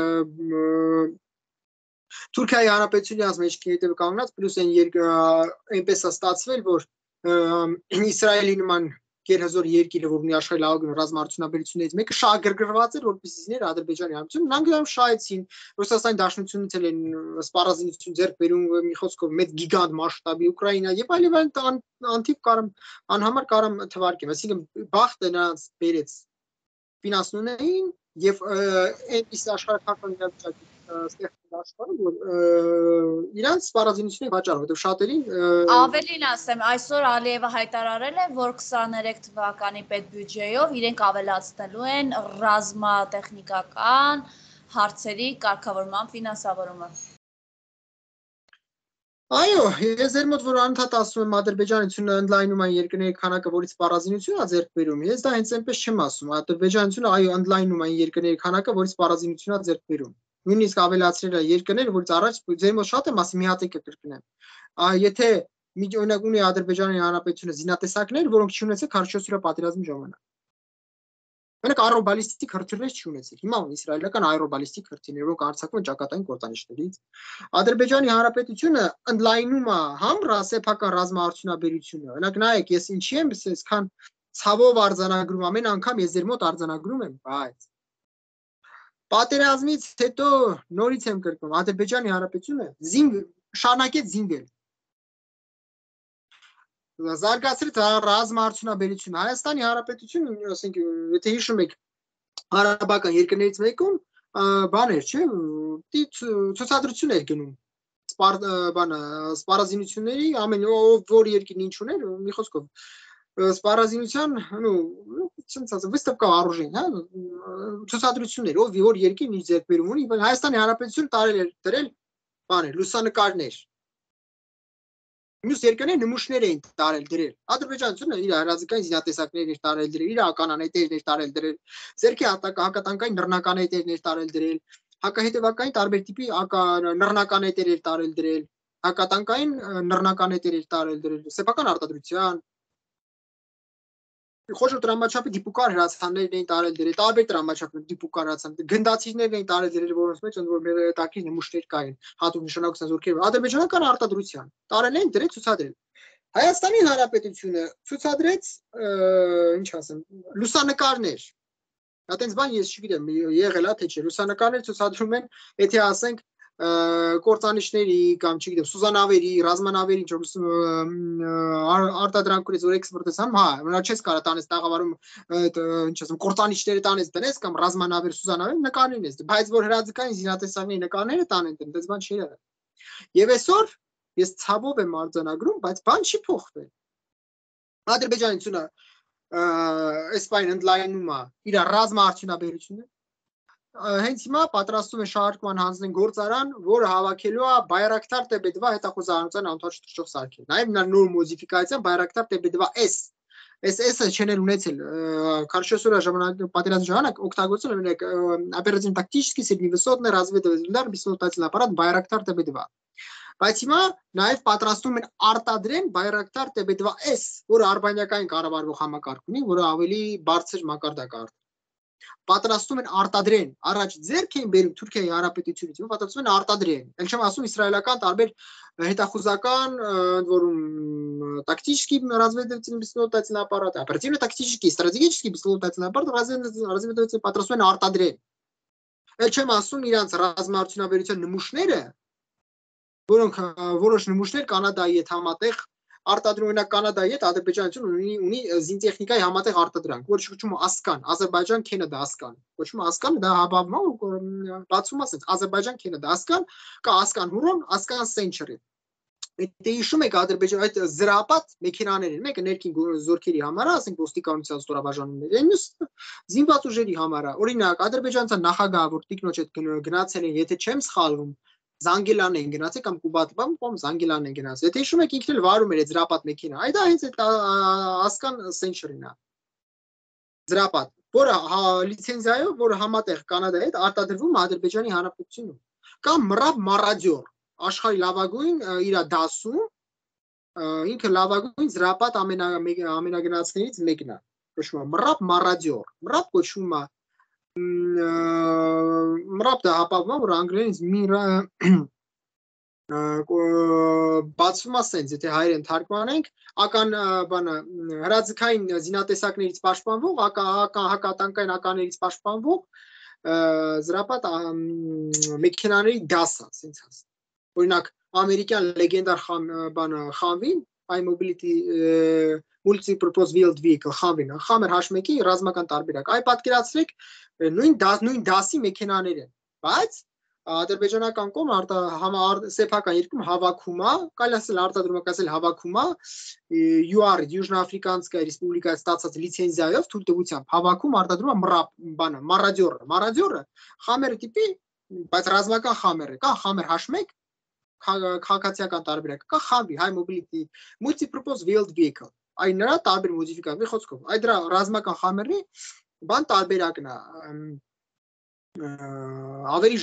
Թուրքիայի Հանրապետության մեջ հետևը կանգնած պլյուս այն այնպես է ստացվել, որ Իսրայելի նման գերհզոր երկիրը, որ ունի աշխարհի լավագույն ռազմարտությունաբերություններից մեկը շահագրգռված էր, որպեսզի զիներ Ադրբեջանի Հանրապետությունը, նրանք շահեցին, Ռուսաստանի Դաշնությունից էլ են սպառազինություն ձեռք բերում մի խոսքով մեծ գիգանտ մասշտաբի Ուկրաինա եւ այլ եւ այլ անթիվ կարամ անհամար կարամ թվարկեմ, այսինքն բախտը նրանց բերեց ֆինանսնունեին եւ այնպես աշխարհական իրավիճակի ստեղծել աշխարհը, որ իրանց սպառազինությունների վաճառը, որտեղ շատերին ավելին ասեմ, այսօր Ալիևը հայտարարել է, որ քսաներեք թվականի պետբյուջեով իրենք ավելացնելու են ռազմատեխնիկական հարցերի կարգավորման ֆինանսավորումը։ Այո, ես ձեր մոտ որ անընդհատ ասում եմ Ադրբեջանությունը ընդլայնում այն երկրների քանակը, որից սպառազինություն է ձեռք բերում, ես դա հենց այնպես չեմ ասում, Ադրբեջանությունը այո ընդլայնում այն երկրների քանակը, որից սպառազինություն է ձեռք բերում։ Նույնիսկ ավելացրել է երկրներ, որից առաջ ձեր մոտ շատ եմ ասում մի հատ եկը կրկնեմ։ Եթե օրինակ ունի Ադրբեջանի Հանրապետությունը զինատեսակներ, որոնք չունեցել քարոզչորս օրյա պատերազմի ժամանակ։ Մենակ աերոբալիստիկ հրթիռներ չունեցել։ Հիմա ունի իսրայելական աերոբալիստիկ հրթիռներ, որոնք արձակվում են ճակատային կործանիչներից։ Ադրբեջանի Հանրապետությունը ընդլայնում է համ ռասեփական ռազմաարդյունաբերությունը։ Օրինակ նայեք, ես ինչի եմ այսքան ցավով արձանագրում, ամեն անգամ ես ձեր մոտ արձանագրում եմ, բայց պատերազմից հետո նորից եմ կրկնում, Ադրբեջանի Հանրապետությունը զինվ շարունակեց զինվել։ Զարգացրեց ռազմաարդյունաբերությունը։ Հայաստանի Հանրապետությունը, ասենք, եթե հիշում եք, արաբական երկրներից մեկում բան էր, չէ՞, ցուցադրություն էր գնում։ Բանը սպառազինությունների ամեն որ երկիրն ինչ ուներ, մի խոսքով սպառազինության, ну, չեմ ասում, выставка вооружений, հա, ցուցադրություններ, ով որ երկիրն ինչ ձեռք բերում ունի, Հայաստանի Հանրապետությունը տարել էր դրել բաներ, լուսանկարներ։ Մյուս երկրները նմուշներ էին տարել դրել։ Ադրբեջանությունը իր հրաձգային զինատեսակներ էր տարել դրել, իր ականանետերներ տարել դրել, ձերքի հակատանկային նռնականետերներ տարել դրել, հակահետևակային տարբեր տիպի նռնականետեր էր տարել դրել, հակատանկային նռնականետեր էր տարել դրել, սեփական արտադրության խոշոր տրամաչափի դիպուկար հրացաններն էին տարել դրել, տարբեր տրամաչափի դիպուկար հրացան, գնդացիչներն էին տարել դրել, որոնց մեջ ընդ որ մեր տակի նմուշներ կային, հատուկ նշանակության զորքեր, ադրբեջանական արտադրության, տարել են դրել ցուցադրել։ Հայաստանի Հանրապետությունը ցուցադրեց, ինչ ասեմ, լուսանկարներ։ Դա տենց բան ես չգիտեմ, եղել է թե չէ, լուսանկարներ ցուցադրում են, եթե ասենք կործանիչների կամ չգիտեմ սուզանավերի, ռազմանավերի ինչ արտադրանքներից որ էքսպորտես անում, հա, նա չես կարա տանես տաղավարում, ինչ ասեմ, կործանիչները տանես դնես կամ ռազմանավեր, սուզանավեր նկարներ ես, բայց որ հրաձգային զինատեսակների նկարները տանեն, դες բան չի եղել։ Եվ այսօր ես ցավով եմ արձանագրում, բայց բան չի փոխվել։ Ադրբեջանությունը այս բանը ընդլայնում է իր ռազմաարդյունաբերությունը։ Հենց հիմա պատրաստում է շարժման հանձնեն գործարան, որը հավաքելու է Բայրակտար T B two հետախուզարանության անթաչ թռչող սարքեր։ Նաև նա նոր մոդիֆիկացիա Բայրակտար T B two S։ Այս S-ը չեն ունեցել քարոզչորս օրյա ժամանակ պատերազմի ժամանակ օգտագործել են оперативно-тактический средневысотный разведывательный удар беспилотный аппарат Բայрактар T B two։ Բայց հիմա նաև պատրաստում են արտադրեն Բայրակտար T B two S, որը արբանյակային կառավարվող համակարգ ունի, որը ավելի բարձր մակարդակ է։ Պատրաստում են արտադրեն, առաջ ձեռք էին բերում Թուրքիայի Հանրապետությունից, հիմա պատրաստում են արտադրեն։ Էլ չեմ ասում իսրայելական տարբեր հետախուզական, ընդ որում тактический разведывательный беспилотательный аппарат, оперативно-тактический, стратегический беспилотательный аппарат разведывательный պատրաստում են արտադրել։ Էլ չեմ ասում իրանց ռազմաարդյունաբերության նմուշները, որոնք որոշ նմուշներ Կանադայի հետ համատեղ արտադրում են Կանադայի հետ Ադրբեջանություն ունի ունի զինտեխնիկայի համատեղ արտադրանք, որը կոչվում է Ասկան, Ադրբեջան-Քենեդա Ասկան, կոչվում է Ասկան, դա հավավում է բացում է ասենց Ադրբեջան-Քենեդա Ասկան, կա Ասկան Հուրոն, Ասկան Սենչերի։ Դե հիշում եք Ադրբեջան այդ զրապատ մեքենաներ են, մեկը ներքին զորքերի համար, ասենք ոստիկանության ստորաբաժանումների, մյուսը զինված ուժերի համար։ Օրինակ ադրբեջանցան նախագահ, որ տիկնոջ հետ գնացել են, եթե չեմ սխալվում, Զանգելան են գնացել կամ Կուբատբամ, կամ Զանգելան են գնացել։ Եթե հիշում եք ինքն էլ վարում էր այդ զրապատ մեքենա, այդ հենց այդ Ասկան Սենչերին է։ Զրապատ, որը լիցենզիայով, որը համատեղ Կանադայի հետ արտադրվում է Ադրբեջանի Հանրապետությունում։ Կամ Մրաբ Մարադյոր, աշխարհի լավագույն իր դասում, ինքը լավագույն զրապատ ամենագնացներից մեկն է։ Կոչվում է Մրաբ Մարադյոր։ Մրաբ կոչվում է Մրաբ դա հապավում, որ անգլերենից միրը բացվում է սենց, եթե հայերեն թարգմանենք, ական բանը հրաձգային զինատեսակներից պաշտպանվող, հակատանկային ականներից պաշտպանվող զրապատ մեքենաների դասը, սենց ասեմ։ Օրինակ, ամերիկյան լեգենդար բանը Խանվին, High Mobility Multi-Purpose Wheeled Vehicle, Խանվին, Խամեր H one-ի ռազմական տարբերակ։ Այ պատկերացրեք նույն նույն դասի մեքենաներ են, բայց ադրբեջանական կողմը սեփական երկում հավաքում է, կարելի ասել արտադրում է, ասել հավաքում է յու ար Южноафриканская Республика ստացած լիցենզիայով թույլտվությամբ հավաքում արտադրում է մռապ բանը, մարադյորը, մարադյորը խամերը տիպի, բայց ռազմական խամերը, կա խամեր H one, քաղաքացիական տարբերակ, կա խավի, High Mobility Multi-Purpose Wheeled Vehicle, այն նրա տարբեր մոդիֆիկացիաների խոսքով, այդ դրա ռազմական խամերի բան տարբերակն է, ավելի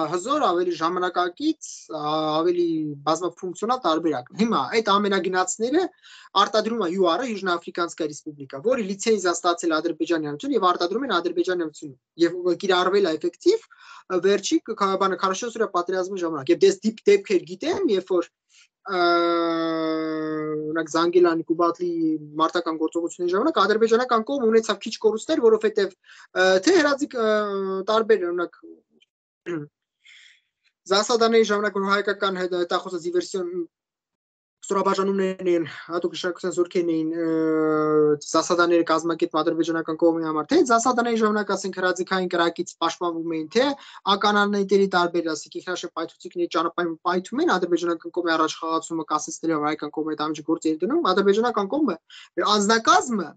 հզոր, ավելի ժամանակակից, ավելի բազմաֆունկցիոնալ տարբերակ։ Հիմա այդ ամենագնացները արտադրում է յու ար-ը Южноафриканская Республика, որի լիցենզիա ստացել Ադրբեջանի Հանրապետություն եւ արտադրում են Ադրբեջանի Հանրապետությունում եւ կիրառվել է էֆեկտիվ վերջի բանը քարաշոսուրա պատերազմի ժամանակ։ Եվ դες դեպքեր գիտեմ, երբ որ օրինակ Զանգելանի Կուբատլի մարտական գործողությունների ժամանակ ադրբեջանական կողմը ունեցավ քիչ կորուստներ, որովհետև թե հրաձիգ տարբեր օրինակ Զասադաների ժամանակ որ հայկական հետախուզը դիվերսիոն ստորաբաժանումներն են, հատուկ իշխանության զորքերն էին Զասադաները կազմակերպում ադրբեջանական կողմի համար, թե Զասադաների ժամանակ ասենք հրաձիգային կրակից պաշտպանվում էին, թե ականանետերի տարբեր ասենք ինքնաշեն պայթուցիկների ճանապարհին պայթում են ադրբեջանական կողմի առաջ խաղացումը կասեցնելով հայկական կողմի հետ ամիջի գործ էր դնում, ադրբեջանական կողմը անձնակազմը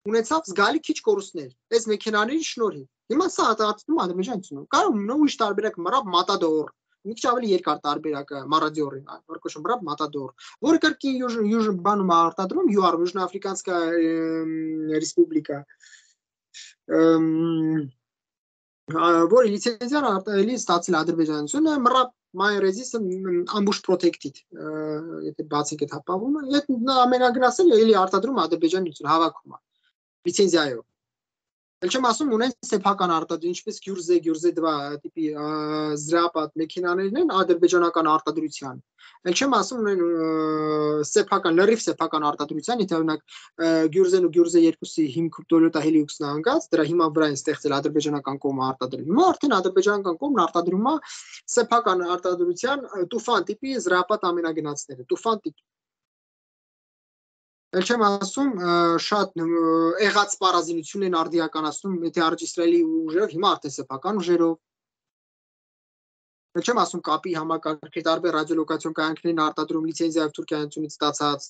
ունեցավ զգալի քիչ կորուստներ այս մեքենաների շնորհիվ։ Հիմա սա արտադրում ադրբեջանությունում։ Կարող է ուրիշ տարբերակ մռապ մատադոր, մի քիչ ավելի երկար տարբերակը մարադյորին, որ կոչվում մռապ մատադոր, որը կրկին յուժ բանում արտադրում յու ար Южноафриканская Республика, որի լիցենզիան արտադրելի ստացել ադրբեջանությունը, մռապ My resistance ambush protected, եթե բացենք այդ հապավումը, այդ ամենագնացել էլի արտադրում ադրբեջանություն հավաքում է լիցենզիայով։ Էլ չեմ ասում ունեն սեփական արտադրություն, ինչպես Գյուրզե, Գյուրզե два տիպի զրապատ մեքենաներն են ադրբեջանական արտադրության։ Էլ չեմ ասում ունեն սեփական, լրիվ սեփական արտադրության, եթե օրինակ Գյուրզեն ու Գյուրզե երկուսի հիմք Toyota Hilux-ն է անգած, դրա հիմա վրա են ստեղծել ադրբեջանական կողմը արտադրել։ Հիմա արդեն ադրբեջանական կողմն արտադրում է սեփական արտադրության Տուֆան տիպի զրապատ ամենագնացները, Տուֆան տիպ։ Էլ չեմ ասում շատ եղած պարազինություն են արդիականացնում, եթե առաջ Իսրայելի ուժերով, հիմա արդեն սեփական ուժերով։ Էլ չեմ ասում կապի համակարգերի տարբեր ռադիոլոկացիոն կայանքներին արտադրում լիցենզիայով Թուրքիայից ստացած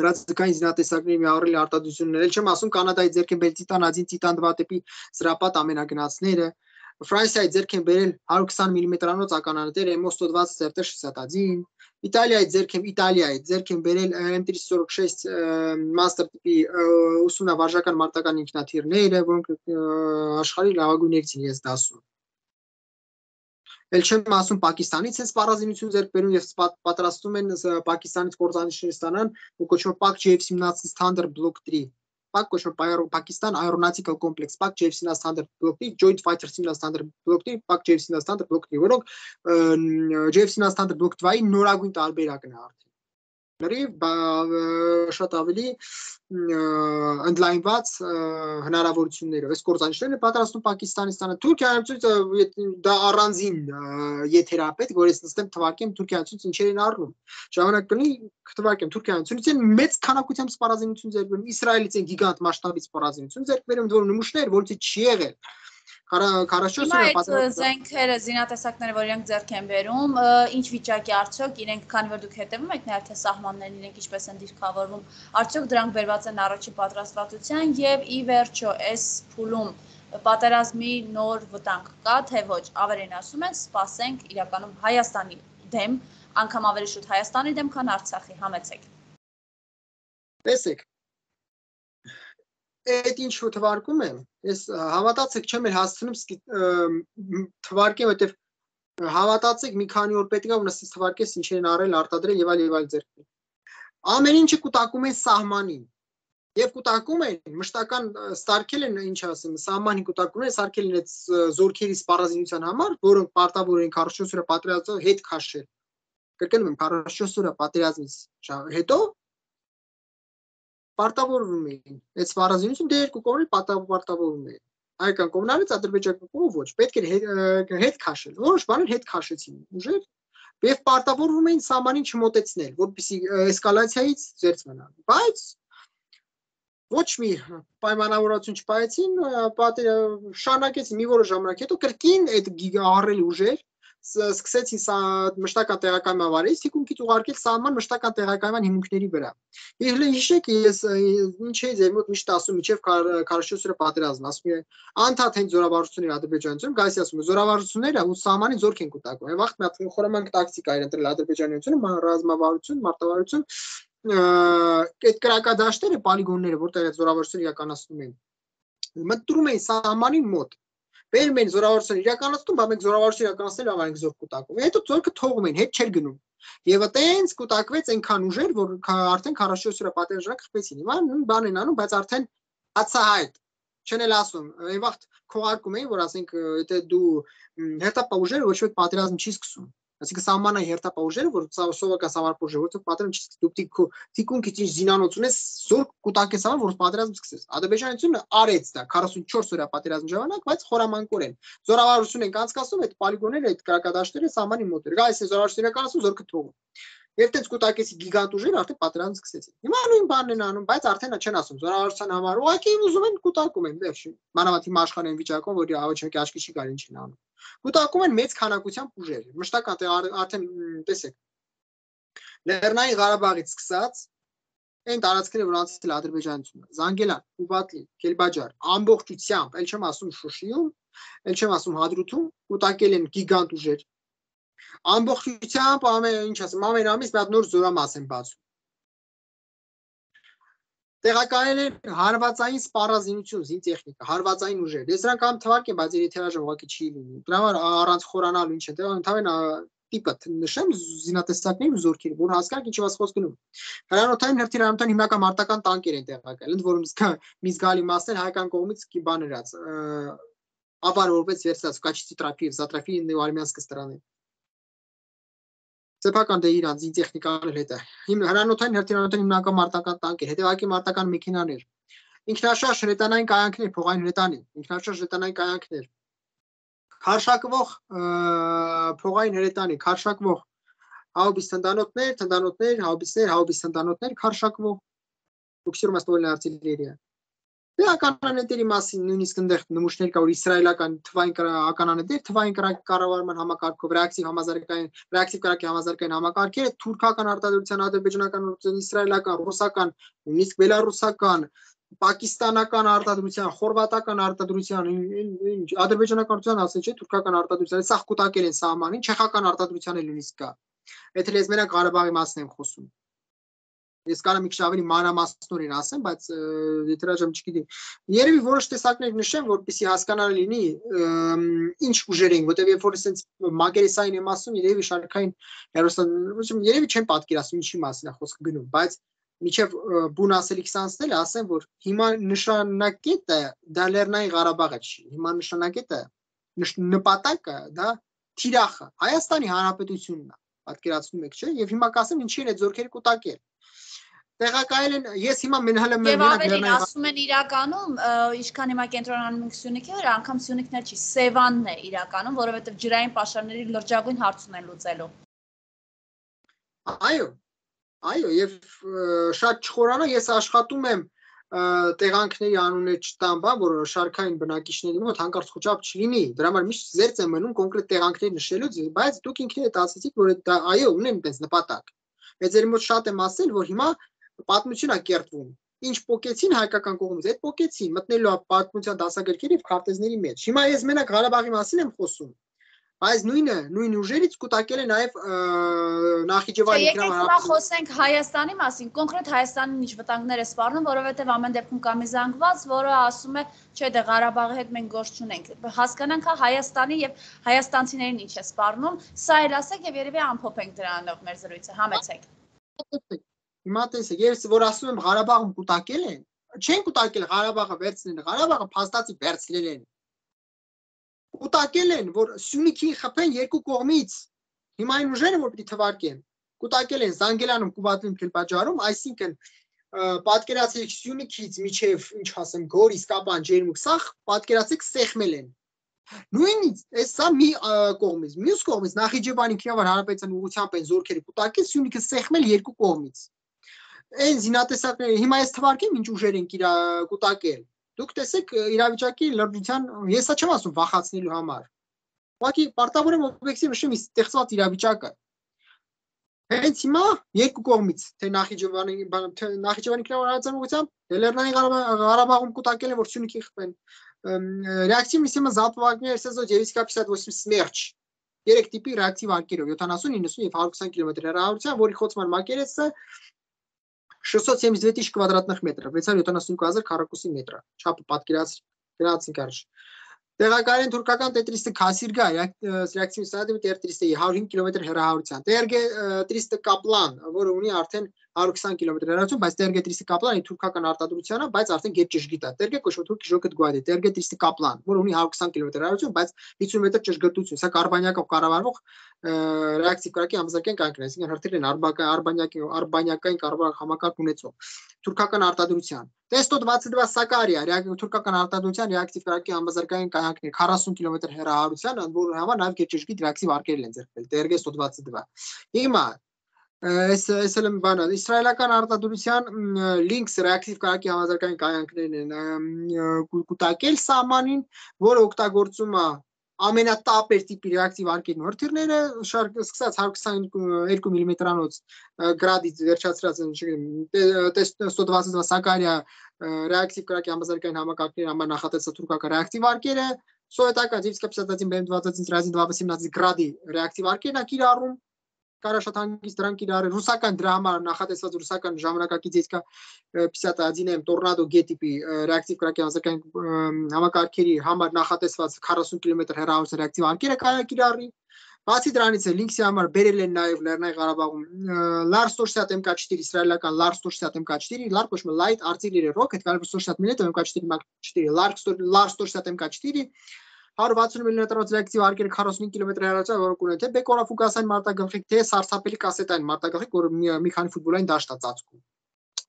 հրաձգային զինատեսակների միավորելի արտադրություններ, էլ չեմ ասում Կանադայի ձեռք են բերել Տիտան один, Տիտան два տիպի զրապատ ամենագնացները, Ֆրանսիայի ձեռք են բերել հարյուր քսան միլիմետրանոց ականանետեր էմ ո sto двадцать эф тэ шестьдесят один, Իտալիայի ձեռք են Իտալիայի ձեռք են բերել эм триста сорок шесть master տիպի ուսումնավարժական մարտական ինքնաթիռները, որոնք աշխարհի լավագույններից են ես դասում։ Էլ չեմ ասում Պակիստանից են սպառազինություն ձեռք բերում եւ պատրաստում են Պակիստանից կորզանիշներ ստանան, ու կոչվում է Pak J F seventeen Thunder Block three, Pak կոչվում է Pakistan Aeronautical Complex, Pak J F seventeen Thunder Block three, Joint Fighter seventeen Thunder Block three, Pak J F seventeen Thunder Block three, որոնք J F seventeen Thunder Block two-ի նորագույն տարբերակն է արդեն։ լրիվ շատ ավելի ընդլայնված հնարավորություններով այս կործանիչները պատրաստում Պակիստանից տանը Թուրքիայից դա առանձին եթերապետ որ ես նստեմ թվարկեմ Թուրքիայից ինչեր են առնում ժամանակ կլինի թվարկեմ Թուրքիայից են մեծ քանակությամբ սպառազինություն ձեռք բերում Իսրայելից են գիգանտ մասշտաբի սպառազինություն ձեռք բերում որ նմուշներ որից չի եղել Հիմա զենքերը, զինատեսակները, որ իրենք ձեռք են բերում, ինչ վիճակի արդյոք իրենք, քանի որ դուք հետևում եք նաև թե սահմաններն իրենք ինչպես են դիրքավորվում, արդյոք դրանք բերված են առաջի պատրաստվածության եւ ի վերջո այս փուլում պատերազմի նոր վտանգ կա, թե ոչ, ավելին ասում են, սպասենք իրականում Հայաստանի դեմ, անգամ ավելի շուտ Հայաստանի դեմ, քան Արցախի, համեցեք։ Տեսեք Այդ ինչ որ թվարկում եմ, ես հավատացեք չեմ էլ հասցնում թվարկեմ, որտեվ հավատացեք մի քանի օր պետք է որ նստես թվարկես ինչեր են առել, արտադրել եւ այլ եւ այլ ձեռք։ Ամեն ինչը կուտակում են սահմանին։ Եվ կուտակում են մշտական սարքել են, ինչ ասեմ, սահմանին կուտակում են, սարքել են այդ զորքերի սպառազինության համար, որոնք պարտավոր են քառորդ օրը պատերազմից հետ քաշել։ Կրկնում եմ, քառորդ օրը պատերազմից հետո Պարտավորվում էին, այդ սպառազինություն դե երկու կողմի պարտավորվում էին։ Հայկական կողմներից Ադրբեջանի կողմը ոչ, պետք էր հետ քաշել։ Որոշ բաներ հետ քաշեցին ուժեր եւ պարտավորվում էին սահմանին չմոտեցնել, որպեսզի էսկալացիայից զերծ մնան։ Բայց ոչ մի պայմանավորվածություն չպայեցին, շարունակեցին մի որոշ ժամանակ հետո կրկին այդ ահռելի ուժեր սկսեցին մշտական տեղակայմավարից թիկունքից ուղարկել սահման մշտական տեղակայման հիմունքների վրա։ Եվ հիշեք ես ինչ էի ձեր մոտ միշտ ասում միջև քառորդ օրը պատերազմ, ասում եմ անդադ հենց զորավարժությունների Ադրբեջանությունում, գայս ասում եմ զորավարժությունները ու սահմանի զորք են կուտակում։ Այն վաղ մի հատ խորամանկ տակտիկա էր ընտրել Ադրբեջանությունը, ռազմավարություն, մարտավարություն, այդ կրակադաշտերը, պոլիգոնները, որտեղ այդ զորավարժությունները իրականացնում են, մտնում էին սահմանի մոտ։ Բերում են զորավարժություն իրականացնում, բայց մենք զորավարժություն իրականացնել համար ենք զորք կուտակում։ Հետո զորքը թողում են, հետ չէր գնում։ Եվ այտենց կուտակվեց այնքան ուժեր, որ արդեն քառորդ օրը պատերազմը խփեցին։ Հիմա նույն բանն են անում, բայց արդեն ացահայտ։ Չեն էլ ասում, այն վաղ քողարկում էին, որ ասենք, եթե դու հերթապահ ուժերը ոչ ոք պատերազմ չի սկսում։ Այսինքն սահմանային հերթապահ ուժերը, որ սովորական սահմանապահ ուժերը, որոնք պատերազմ չի սկսում, դու թիկունքից ինչ զինանոց ունես, զորք կուտակես համար, որ պատերազմ սկսես։ Ադրբեջանությունը արեց դա քառորդ օրյա պատերազմի ժամանակ, բայց խորամանկորեն։ Զորավարժություն են կանցկացնում այդ պոլիգոնները, այդ կրակադաշտերը սահմանի մոտ էր։ Գայս է զորավարժություն իրականացնում, զորքը թողում։ Եվ դից կուտակեցի գիգանտ ուժերը արդեն պատերազմ սկսեցին։ Հիմա նույն բանն են անում, բայց արդեն չեն ասում զորավարժության համար ուղղակի ուզում են կուտակում են, վերջ։ Մանավանդ հիմա աշխարհային վիճակում, որ ավաչակի աչքի չի գալի ինչ են անում։ Կուտակում են մեծ քանակությամբ ուժեր։ Մշտական տեղ արդեն տեսեք։ Լեռնային Ղարաբաղից սկսած այն տարածքները, որ անցել Ադրբեջանությունը, Զանգելան, Ուբատլի, Կելբաջար, ամբողջությամբ, ել չեմ ասում Շուշիում, ել չեմ ասում Հադրութում, կուտակել են գիգանտ ուժեր։ Ամբողջությամբ ամեն ինչ ասեմ, ամեն ամիս մի հատ նոր զորամաս են բացում։ Տեղակայել են հարվածային սպառազինություն, զինտեխնիկա, հարվածային ուժեր։ Ես դրանք ամ թվարկեմ, բայց երթերաժամ ուղղակի չի լինի։ Դրա համար առանց խորանալու ինչ է, դե ընդհանրապես տիպը նշեմ զինատեսակների ու զորքերի, որ հասկանանք ինչի մաս խոսք գնում։ Հրանոթային հրթիռանոթային հիմնական մարտական տանկեր են տեղակայել, ընդ որում մի զգալի մասն հայկական կողմից բաներած, ապար որպես վերցած կաչիցի տրափի եւ զատրափի ու արմյանսկ ստրան։ Սեփական դե իրանց զինտեխնիկաներ հետ է։ Հրանոթային հրթիռանոթային հիմնական մարտական տանկեր, հետևակի մարտական մեքենաներ, ինքնաշարժ հրետանային կայանքներ, փողային հրետանի, ինքնաշարժ հրետանային կայանքներ, քարշակվող փողային հրետանի, քարշակվող հաուբիս թնդանոթներ, թնդանոթներ, հաուբիսներ, հաուբիս թնդանոթներ, քարշակվող բուքսիրումաստոլն արտիլերիա։ Դե ականանետերի մասին նույնիսկ այնտեղ նմուշներ կա, որ իսրայելական թվային ականանետեր, թվային կառավարման համակարգով, ռեակտիվ համազարգային, ռեակտիվ կրակի համազարգային համակարգերը, թուրքական արտադրության, ադրբեջանական արտադրության, իսրայելական, ռուսական, նույնիսկ բելարուսական, պակիստանական արտադրության, խորվատական արտադրության, ադրբեջանական արտադրության ասել չէ, թուրքական արտադրության, սա կուտակել են սահմանին, չեխական արտադրության էլ նույնիսկ կա։ Եթե ես մենակ Ղարաբաղի մասն եմ խոսում։ Ես կարամ մի քիչ ավելի մանրամասնորեն ասեմ, բայց եթերաժամ չգիտեմ։ Երևի որոշ տեսակներ նշեմ, որպեսզի հասկանալի լինի ինչ ուժեր են, որտեղ երբ որ ասենց մագերեսային եմ ասում, երևի շարքային հերոսան, երևի չեմ պատկերացնում ինչի մասին է խոսքը գնում, բայց միջև բուն ասելիքս անցնել ասեմ, որ հիմա նշանակետը դա Լեռնային Ղարաբաղը չի։ Հիմա նշանակետը նպատակը դա թիրախը, Հայաստանի Հանրապետությունն է։ պատկերացնում եք, չէ՞, եւ հիմա կասեմ ինչի են այդ զորքերը կուտակել։ Տեղակայել են, ես հիմա մենհալը Եվ ավելին ասում են իրականում, ինչքան հիմա կենտրոնանում ենք Սյունիքի վրա, անգամ Սյունիքն չի, Սևանն է իրականում, որովհետև ջրային պաշարների լրջագույն հարց ունեն լուծելու։ Այո, այո, եւ շատ չխորանա, ես աշխատում եմ տեղանքների անունը չտամ, բա որ շարքային բնակիչների մոտ հանկարծ խոճապ չլինի։ Դրա համար միշտ զերծ եմ մնում կոնկրետ տեղանքներ նշելուց, բայց դուք ինքներդ ասացիք, որ դա այո, ունեն այդպես նպատակ։ Բայց ձեր մոտ շատ եմ ասել, որ հիմա պատմություն է կերտվում։ Ինչ փոկեցին հայկական կողմից, այդ փոկեցին, մտնելու է պատմության դասագրքերի եւ քարտեզների մեջ։ Հիմա ես մենակ Ղարաբաղի մասին եմ խոսում։ Բայց նույնը, նույն ուժերից կուտակել է նաև Նախիջևանի ինքնավար Եկեք հիմա խոսենք Հայաստանի մասին, կոնկրետ Հայաստանին ինչ վտանգներ է սպառնում, որովհետև ամեն դեպքում կա մի զանգված, որը ասում է, չէ, դե Ղարաբաղի հետ մենք գործ չունենք։ Հասկանանք հա Հայաստանի եւ հայաստանցիներին ինչ է սպառնում, սա էլ ասեք եւ երևի ամփոփենք դրանով մեր զրույցը, համեցեք։ Հիմա տեսեք, ես որ ասում եմ Ղարաբաղում կուտակել են, չեն կուտակել Ղարաբաղը վերցնել, Ղարաբաղը փաստացի վերցնել են։ Կուտակել են, որ Սյունիքին խփեն երկու կողմից։ Հիմա այն ուժերը, որ պիտի թվարկեն, կուտակել են Զանգելանում, Կուբատլում, Քելպաջարում, այսինքն պատկերացրեք Սյունիքից միջև, ինչ ասեմ, Գորիս, Կապան, Ջերմուկ, սա պատկերացրեք սեղմել են։ Նույնիսկ այս սա մի կողմից, մյուս կողմից Նախիջևանի ինքնավար հանրապետության ուղղությամբ են զորքերը կուտակել, Սյունիքը սեղմել երկու կողմից։ Այն զինատեսակները հիմա ես թվարկեմ ինչ ուժեր են կուտակել։ Դուք տեսեք իրավիճակի լրջության, ես սա չեմ ասում վախացնելու համար։ Ուղղակի պարտավոր եմ օբյեկտիվ նշեմ ստեղծված իրավիճակը։ Հենց հիմա երկու կողմից, թե Նախիջևանի, թե Նախիջևանի ինքնավար ուղղությամբ, թե Լեռնային Ղարաբաղում կուտակել են, որ Սյունիքի խփեն։ Реактивная система залпового ССО девять К пятьдесят восемь Смерч։ Երեք տիպի ռեակտիվ արկերով յոթանասուն, իննսուն եւ հարյուր քսան կիլոմետր հեռավորության, որի խոցման մակերեսը шестьсот семьдесят две тысячи квадратных метров, վեցսուն յոթանասունհինգ հազար քառակուսի մետր։ Չափը պատկերացրեք, գնացինք առաջ։ Տեղակայել են թուրքական Т триста Քասիրգա, ռեակտիվ սադի Т триста հարյուր հինգ կիլոմետր հեռավորության։ Տ Ր Գ триста Կապլան, որը ունի արդեն հարյուր քսան կիլոմետր հեռավորություն, բայց Տ Ր Գ триста Կապլանը թուրքական արտադրության է, բայց արդեն գերճշգիտ է։ Տ Ր Գ կոչվում թուրքի ժոկետ գուադի, Տ Ր Գ триста Կապլան, որը ունի հարյուր քսան կիլոմետր հեռավորություն, բայց հիսուն մետր ճշգրտություն։ Սա կարբանյակով կառավարվող ռեակտիվ կրակի համազգային կայքն է, այսինքն հրթիռն են արբանյակի արբանյակային կառավարող համակարգ ունեցող թուրքական արտադրության։ Т сто двадцать два Սակարիա, թուրքական արտադրության ռեակտիվ կրակի համազգային կայքն է քառասուն կիլոմետր հեռավորության, որը համար նաև գերճշգիտ ռեակտիվ արկերել են ձեռքբերել, Տ Ր Գ сто двадцать два։ Հիմա Այս այս էլ բանը իսրայելական արտադրության Lynx ռեակտիվ կրակի համազգային կայանքներն են կուտակել սահմանին, որը օգտագործում է ամենատապեր տիպի ռեակտիվ արկերն հրթիռները, սկսած հարյուր քսան երկու միլիմետրանոց գրադից վերջացրած Տ сто двадцать два Սակարիա ռեակտիվ կրակի համազգային համակարգների համար նախատեսած թուրքական ռեակտիվ արկերը, սովետական девять К пятьдесят один Б М двадцать один Разин два восемнадцать գրադի ռեակտիվ արկերն է կիրառում, կարա շատ հանգիստ դրանք կիրառել, ռուսական դրա համար նախատեսված ռուսական ժամանակակից եսկա пятьдесят один М Tornado G տիպի ռեակտիվ կրակի համազգային համակարգերի համար նախատեսված քառասուն կիլոմետր հեռավորության ռեակտիվ արկերը կարա կիրառի։ Բացի դրանից է Lynx-ի համար բերել են նաև Լեռնային Ղարաբաղում Lar сто шестьдесят М К четыре իսրայելական Lar сто шестьдесят М К четыре, Lar կոչվում է Light Artillery Rocket, сто шестьдесят миллиметров М К четыре М К четыре, Lar сто шестьдесят М К четыре հարյուր վաթսուն միլիմետրանոց ռեակտիվ արկերը քառասուն կիլոմետր հեռավորության, որը կունեն թե բեկորաֆուգասային մարտագլխիկ, թե սարսափելի կասետային մարտագլխիկ, որը մի քանի ֆուտբոլային դաշտ է ծածկում։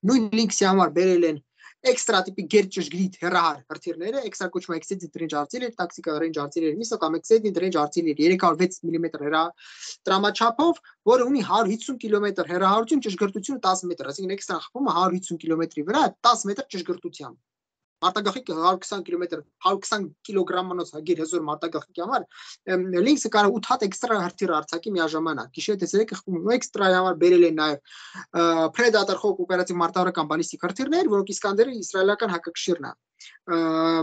Նույն Lynx-ի համար բերել են էքստրա տիպի գերճշգրիտ հեռահար հրթիռները, էքստրա կոչվում է Extended Range Artillery, Tactical Range Artillery, միսը կամ Extended Range Artillery երեք հարյուր վեց միլիմետր հեռատրամաչափով, որը ունի հարյուր հիսուն կիլոմետր հեռահարություն, ճշգրտությունը տասը մետր, այսինքն էքստրա խփում է հարյուր հիսուն կիլոմետրի վրա, տասը մետր ճշգրտությամբ։ Մարտագլխիկը հարյուր քսան կիլոմետր, հարյուր քսան կիլոգրամանոց հագիր հզոր մարտագլխիկի համար Lynx-ը կարող ութ հատ էքստրա հրթիռ արձակի միաժամանակ։ Գիշերը տեսեք խփում էքստրա համար բերել են նաև Predator Hawk օպերատիվ մարտավարական բալիստիկ հրթիռներ, որոնք Իսկանդերը իսրայելական հակակշիռն է։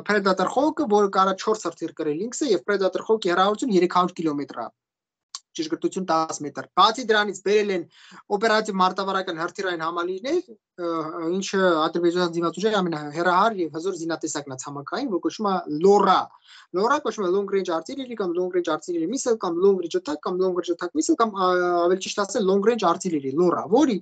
Predator Hawk-ը, որը կարա չորս հրթիռ կրել Lynx-ը եւ Predator Hawk-ի հեռավորությունը երեք հարյուր կիլոմետր է։ Ճշգրտություն տասը մետր։ Բացի դրանից բերել են օպերատիվ մարտավարական հրթիռային համալիրներ, ինչը ադրբեջանական զինված ուժերի ամենահեռահար եւ հզոր զինատեսակն է ցամաքային, որ կոչվում է Lora։ Lora կոչվում է Long Range Artillery կամ Long Range Artillery Missile կամ Long Range Attack կամ Long Range Attack Missile կամ ավելի ճիշտ ասել Long Range Artillery Lora, որի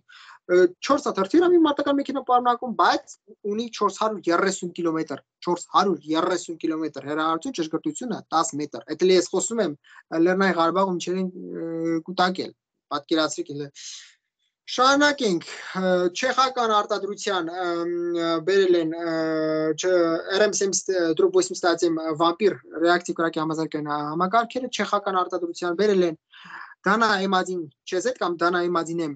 չորս հատ հրթիռ է մի մարտական մեքենա պարունակում, բայց ունի չորս հարյուր երեսուն կիլոմետր, չորս հարյուր երեսուն կիլոմետր հեռավորություն, ճշգրտությունը տասը մետր։ Այդ էլ ես խոսում եմ Լեռնային Ղարաբաղում ինչերին կուտակել։ պատկերացրեք Շարունակենք չեխական արտադրության բերել են R M семьдесят վամպիր ռեակտիվ կրակի համազարգային համակարգերը չեխական արտադրության բերել են Դանա-Էմադին չեզետ կամ Դանա-Էմադինեմ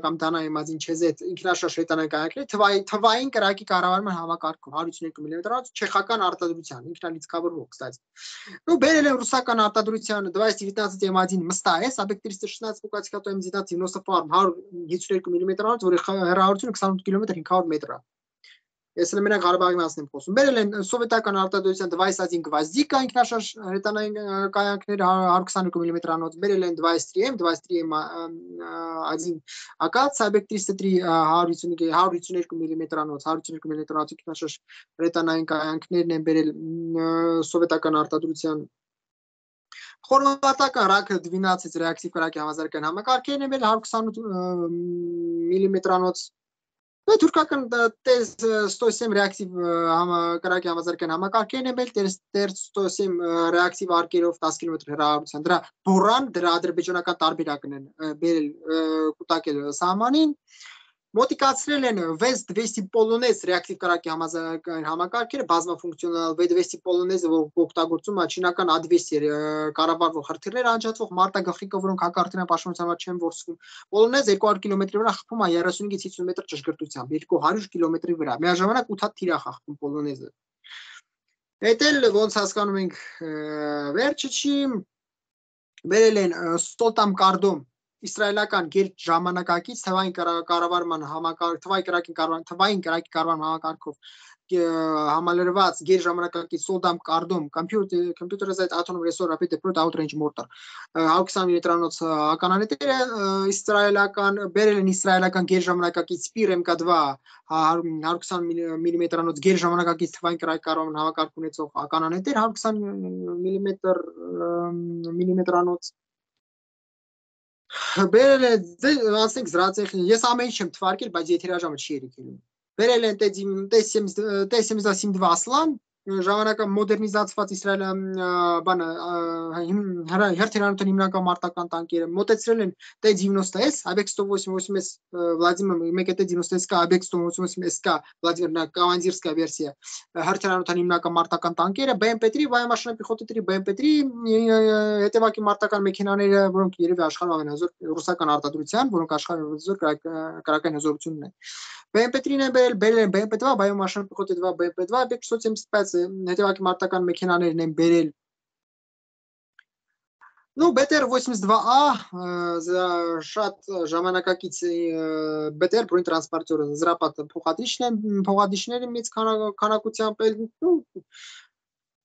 կամ Դանա-Էմադին չեզետ ինքնաշարժ հրետանային կայանքները թվային կրակի կառավարման համակարգով հարյուր ութսուներկու միլիմետրով չեխական արտադրության ինքնալիցքավորվող կստати Ну բերել են ռուսական արտադրության двадцать девятнадцать эм один մստայես объект триста шестнадцать Пукатского эм девятнадцать Farm հարյուր ութսուներկու միլիմետրով որի հեռավորությունը քսանութ կիլոմետր հինգ հարյուր մետր է Ես էլ մենակ Ղարաբաղի մասն եմ խոսում։ Բերել են սովետական արտադրության двадцать один Գվազդիկա ինքնաշարժ հրետանային կայանքները հարյուր քսաներկու միլիմետրանոց, բերել են двадцать три эм, двадцать три эм один Ակաց, Sabek триста три հարյուր ութսուներկու միլիմետրանոց, հարյուր ութսուներկու միլիմետրանոց ինքնաշարժ հրետանային կայանքներն են բերել սովետական արտադրության Խորվատական ռաքը двенадцать ռեակտիվ կրակի համազարգային համակարգերն են բերել հարյուր քսանութ միլիմետրանոց Թուրքական սто семь ռեակտիվ կրակի համազարգային համակարգերն են բերել սто семь ռեակտիվ արկերով դես կիլոմետր հեռավորության դրա բորան դրա ադրբեջանական տարբերակն են բերել կուտակել սահմանին Մոտիկացրել են վեց двести Polonez ռեակտիվ կրակի համազարգային համակարգերը բազմաֆունկցիոնալ վեց двести Polonez-ը օգտագործում է չինական A двести կառավարվող հրթիռներ անջատվող մարտագլխիկով որոնք հակարդյունային պաշտպանության չեն որսվում Polonez երկու հարյուր կիլոմետրի վրա խփում է երեսունից հիսուն մետր ճշգրտությամբ երկու հարյուր կիլոմետրի վրա միաժամանակ ութ հատ թիր է խաղում Polonez-ը Այդ էլ ոնց հասկանում ենք վերջը չի բերել են Ստոտամ Կարդոմ Իսրայելական գեր ժամանակակից թվային կառավարման համակարգ թվային կրակի կառավարման թվային կրակի կառավարման համակարգով համալրված գեր ժամանակակից Սոլդամ Կարդոմ computer computerized autonomous resource rapid deployed outrange mortar հարյուր քսան միլիմետրանոց ականանետերը իսրայելական բերել են իսրայելական գեր ժամանակակից Spir M K два հարյուր քսան միլիմետրանոց գեր ժամանակակից թվային կրակի կառավարման համակարգ ունեցող ականանետեր հարյուր քսան միլիմետր միլիմետրանոց Բերել են ասենք զրացեխին ես ամեն ինչ եմ թվարկել բայց եթերաժամը չի երիքելում Բերել են T семьдесят семь два Aslan ժամանակը մոդեռնիզացված Իսրայելը բանը հերթիրանոթ հիմնական մարտական տանկերը մոտեցրել են T девяносто S Abek сто восемьдесят восемь S Վլադիմիր մեկը T девяносто S կա Abek сто восемьдесят восемь S կա Վլադիմիրնա կավանդիրսկա վերսիա հերթիրանոթ հիմնական մարտական տանկերը B M P три վայամաշինա պիխոտի три B M P три հետևակի մարտական մեքենաները որոնք երևի աշխարհում ամենազոր ռուսական արտադրության որոնք աշխարհում զոր կրակային հզորություն ունեն B M P три-ն են բերել բերել են B M P два վայամաշինա պիխոտի два B M P два Abek сто семьдесят пять հետևակի մարտական մեքենաներն են բերել Ну, B T R восемьдесят два A շատ ժամանակակից B T R բրույն տրանսպորտյորը զրապատ փոխադիչներ են մեծ քանակությամբ ну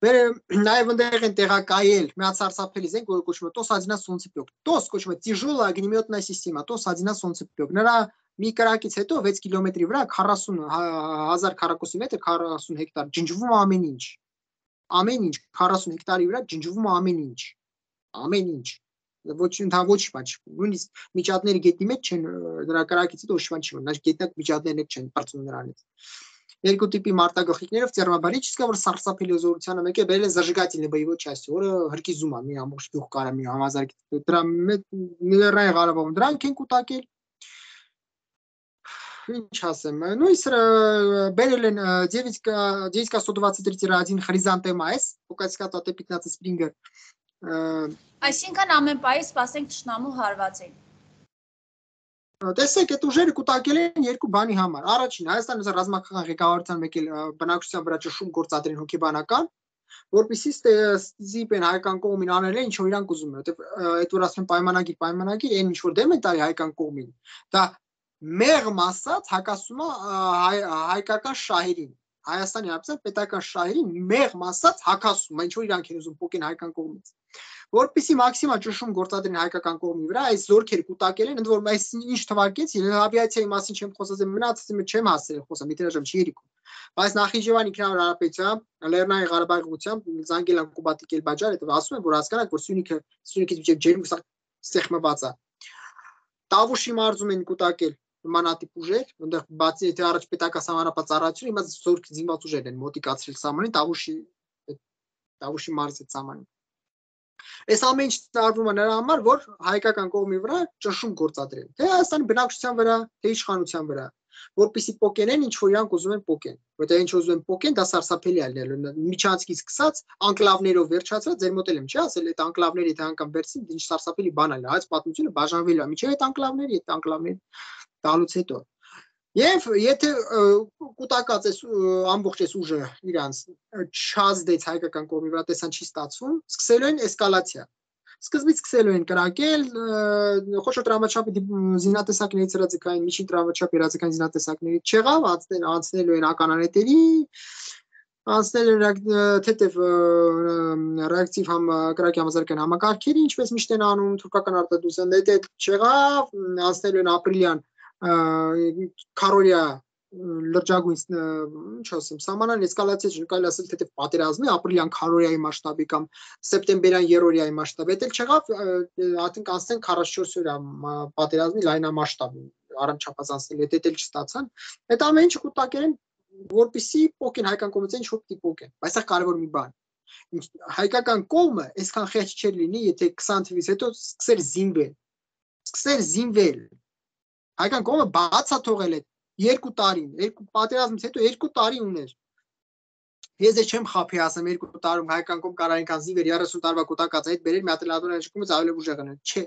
Նաև ընդեղ են տեղակայել միացարսափելի զենք, որը կոչվում է Т O S один Солнцепек Т O S կոչվում է тяжелая огнеметная система Т O S один Солнцепек Նրա մի կրակից հետո վեց կիլոմետրի վրա քառասուն հազար քառակուսի մետր քառասուն հեկտար ջնջվում է ամեն ինչ ամեն ինչ քառասուն հեկտարի վրա ջնջվում է ամեն ինչ ամեն ինչ ոչ ընթա ոչ բաչ նույնիսկ միջատները գետնի մեջ չեն նրա կրակից հետո ոչ բան չի մնա գետնակ միջատներն չեն բարձում նրանից Երկու տիպի մարտագլխիկներով термобарическая որ սարսափելի զորությանը մեկ է բերել են зажигательной боевой части, որը հրկիզում է մի ամբողջ գյուղ կարա մի համազարգի դրա Միլերային Ղարաբաղում դրանք են կուտակել Ինչ ասեմ, ну и բերել են девять К сто двадцать три один Хризантема S, Пукатского Т пятнадцать Springer Այսինքն ամեն պահի սպասենք թշնամու հարվածին Տեսեք, այդ ուժերը կուտակել են երկու բանի համար։ Առաջին, Հայաստանի ռազմական ղեկավարության մեկ էլ բնակչության վրա ճնշում գործադրեն հոգեբանական, որպեսզի ստիպեն հայկական կողմին անել ինչ որ իրանք ուզում են, որտեղ այդ որ ասում են պայմանագիր, պայմանագիր, այն ինչ որ դեմ են տալի հայկական կողմին, դա մեղմ ասած հակասում է հայկական շահերին։ Հայաստանի Հանրապետության պետական շահերին մեղմ ասած հակասում, ինչ որ իրանք են ուզում փոկեն հայկական կողմից։ Որպեսզի մաքսիմալ ճնշում գործադրեն հայկական կողմի վրա, այս զորքերը կուտակել են, ընդ որում այս ինչ թվարկեցի, ավիացիայի մասին չեմ խոսած, մնացածը չեմ հասցրել խոսամ, իդրաժամ չի երիկում։ Բայց Նախիջևան ինքնավար հանրապետությամբ, Լեռնային Ղարաբաղի ուղղությամբ զանգել են Կուբատի Կելբաջար, հետո ասում են, որ հասկանաք, որ Սյունիքը, Սյունիքից միջև ջերմ սեղմված է։ Տավուշի մարզում են կուտակել նմանատիպ ուժեր, այնտեղ բացի եթե առաջ պետական սահմանապահ ծառայություն, հիմա զորք զինված ուժեր են մոտիկացրել սահմանին, Տավուշի Տավուշի մարզի սահմանին։ Այս ամեն ինչ տարվում է նրա համար, որ հայկական կողմի վրա ճնշում գործադրեն, թե Հայաստանի բնակչության վրա, թե իշխանության վրա, որպեսզի պոկենեն ինչ որ իրանք ուզում են պոկեն, որտեղ ինչ ուզում են պոկեն, դա սարսափելի է լինելու, միջանցքից սկսած անկլավներով վերջացած, ձեր մոտ եմ չի ասել, այդ անկլավները եթե անգամ վերցին, ինչ սարսափելի բան է, հայց պատմությունը բաժանվելու է, միջև այդ անկլավների, այդ անկլավների տալուց հետո Եվ եթե կուտակած այս ամբողջ այս ուժը իրանց չազդեց հայկական կողմի վրա տեսան չի ստացվում, սկսելու են էսկալացիա։ Սկզբից սկսելու են կրակել խոշոր տրամաչափի զինատեսակներից հրաձգային, միջին տրամաչափի հրաձգային զինատեսակներից չեղավ, անցնելու են ականանետերի, անցնելու են թեթև ռեակտիվ կրակի համազարգային համակարգերի, ինչպես միշտ են անում թուրքական արտադրության, դա չեղավ, անցնելու են ապրիլյան քարորիա լրջագույն ինչ ասեմ սահմանան էսկալացիա չկարելի ասել թե պատերազմի ապրիլյան քարորիայի մասշտաբի կամ սեպտեմբերյան երրորդյայի մասշտաբի դա չեղավ ատենք անցնեն քառասունչորս օրյա պատերազմի լայնամասշտաբի առանցապած անցնել դա էլ չստացան այդ ամեն ինչը կուտակեն որպեսզի պոկեն հայկական կողմից ինչ հոգ տիպոկեն բայց սա կարևոր մի բան հայկական կողմը այսքան խեղճ չէր լինի եթե քսան թվականից հետո սկսեր զինվել սկսեր զինվել Հայկական կողմը բացա թողել է երկու տարին, երկու պատերազմից հետո երկու տարի ուներ։ Ես դեռ չեմ խափի ասեմ երկու տարում հայկական կողմ կարող ինքան զինվեր երեսուն տարվա կուտակած այդ բերել մի հատ լատորան շկումից ավելի ուժեղ են, չէ։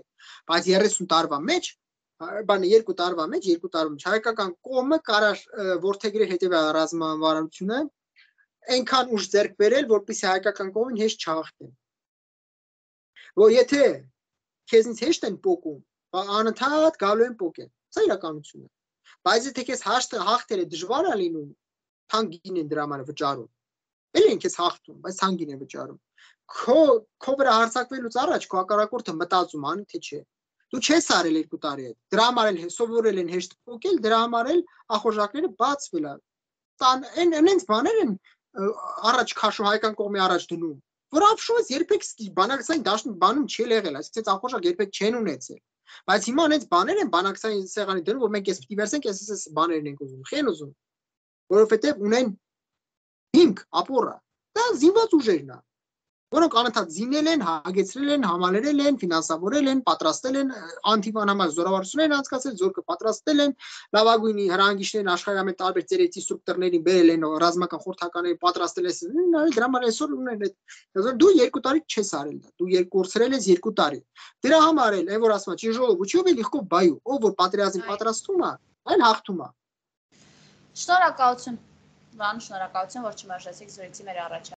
Բայց երեսուն տարվա մեջ, բանը երկու տարվա մեջ, երկու տարում հայկական կողմը կարող ворթեգրել հետևյալ ռազմավարությունը, այնքան ուժ ձեռք բերել, որպեսզի հայկական կողմին հեշտ չհաղթեն։ Որ եթե քեզնից հեշտ են պոկում, անընդհատ գալու են պոկեն։ Սա իրականությունն է։ Բայց եթե քեզ հաղթելը դժվար է լինում, թանկին են դրա համար վճարում։ Էլ են քեզ հաղթում, բայց թանկին են վճարում։ Քո քո վրա հարձակվելուց առաջ քո հակառակորդը մտածում անի թե չէ։ Դու չես արել երկու տարի հետ։ Դրա համար էլ սովորել են հեշտ փոկել, դրա համար էլ ախորժակները բացվել են։ Տան այն այնց բաներ են առաջ քաշում հայկական կողմի առաջ դնում։ Որ ապշուց երբեք բանակցային դաշտում բանում չի եղել, այսինքն ախորժակ երբեք չեն ունեցել։ Բայց հիմա այնց բաներ են բանակցային սեղանի դնում, որ մենք էս պիտի վերցենք, էս էս բաներն ենք ուզում, խեն ուզում, որովհետև ունեն հիմք, ապոռը, դա զինված ուժերն է, որոնք անընդհատ զինել են, հագեցրել են, համալրել են, ֆինանսավորել են, պատրաստել են, անտիվան համար զորավարություն են անցկացրել, զորքը պատրաստել են, լավագույնի հրանգիչներն աշխարհի ամեն տարբեր ծերեցի ստրուկտորներին բերել են, ռազմական խորհրդականների պատրաստել են, դրա համար այսօր ունեն այդ դու երկու տարի չես արել դա, դու երկու կորցրել ես երկու տարի։ Դրա համար էլ, այն որ ասում է, ճիժոլով ու չով է լիղկով բայու, ով որ պատերազմին պատրաստվում է, այն հաղթում է։ Շնորհակալություն, Վան, շնորհակալություն, որ չմերժեցիք զրույցի մեր առաջարկը։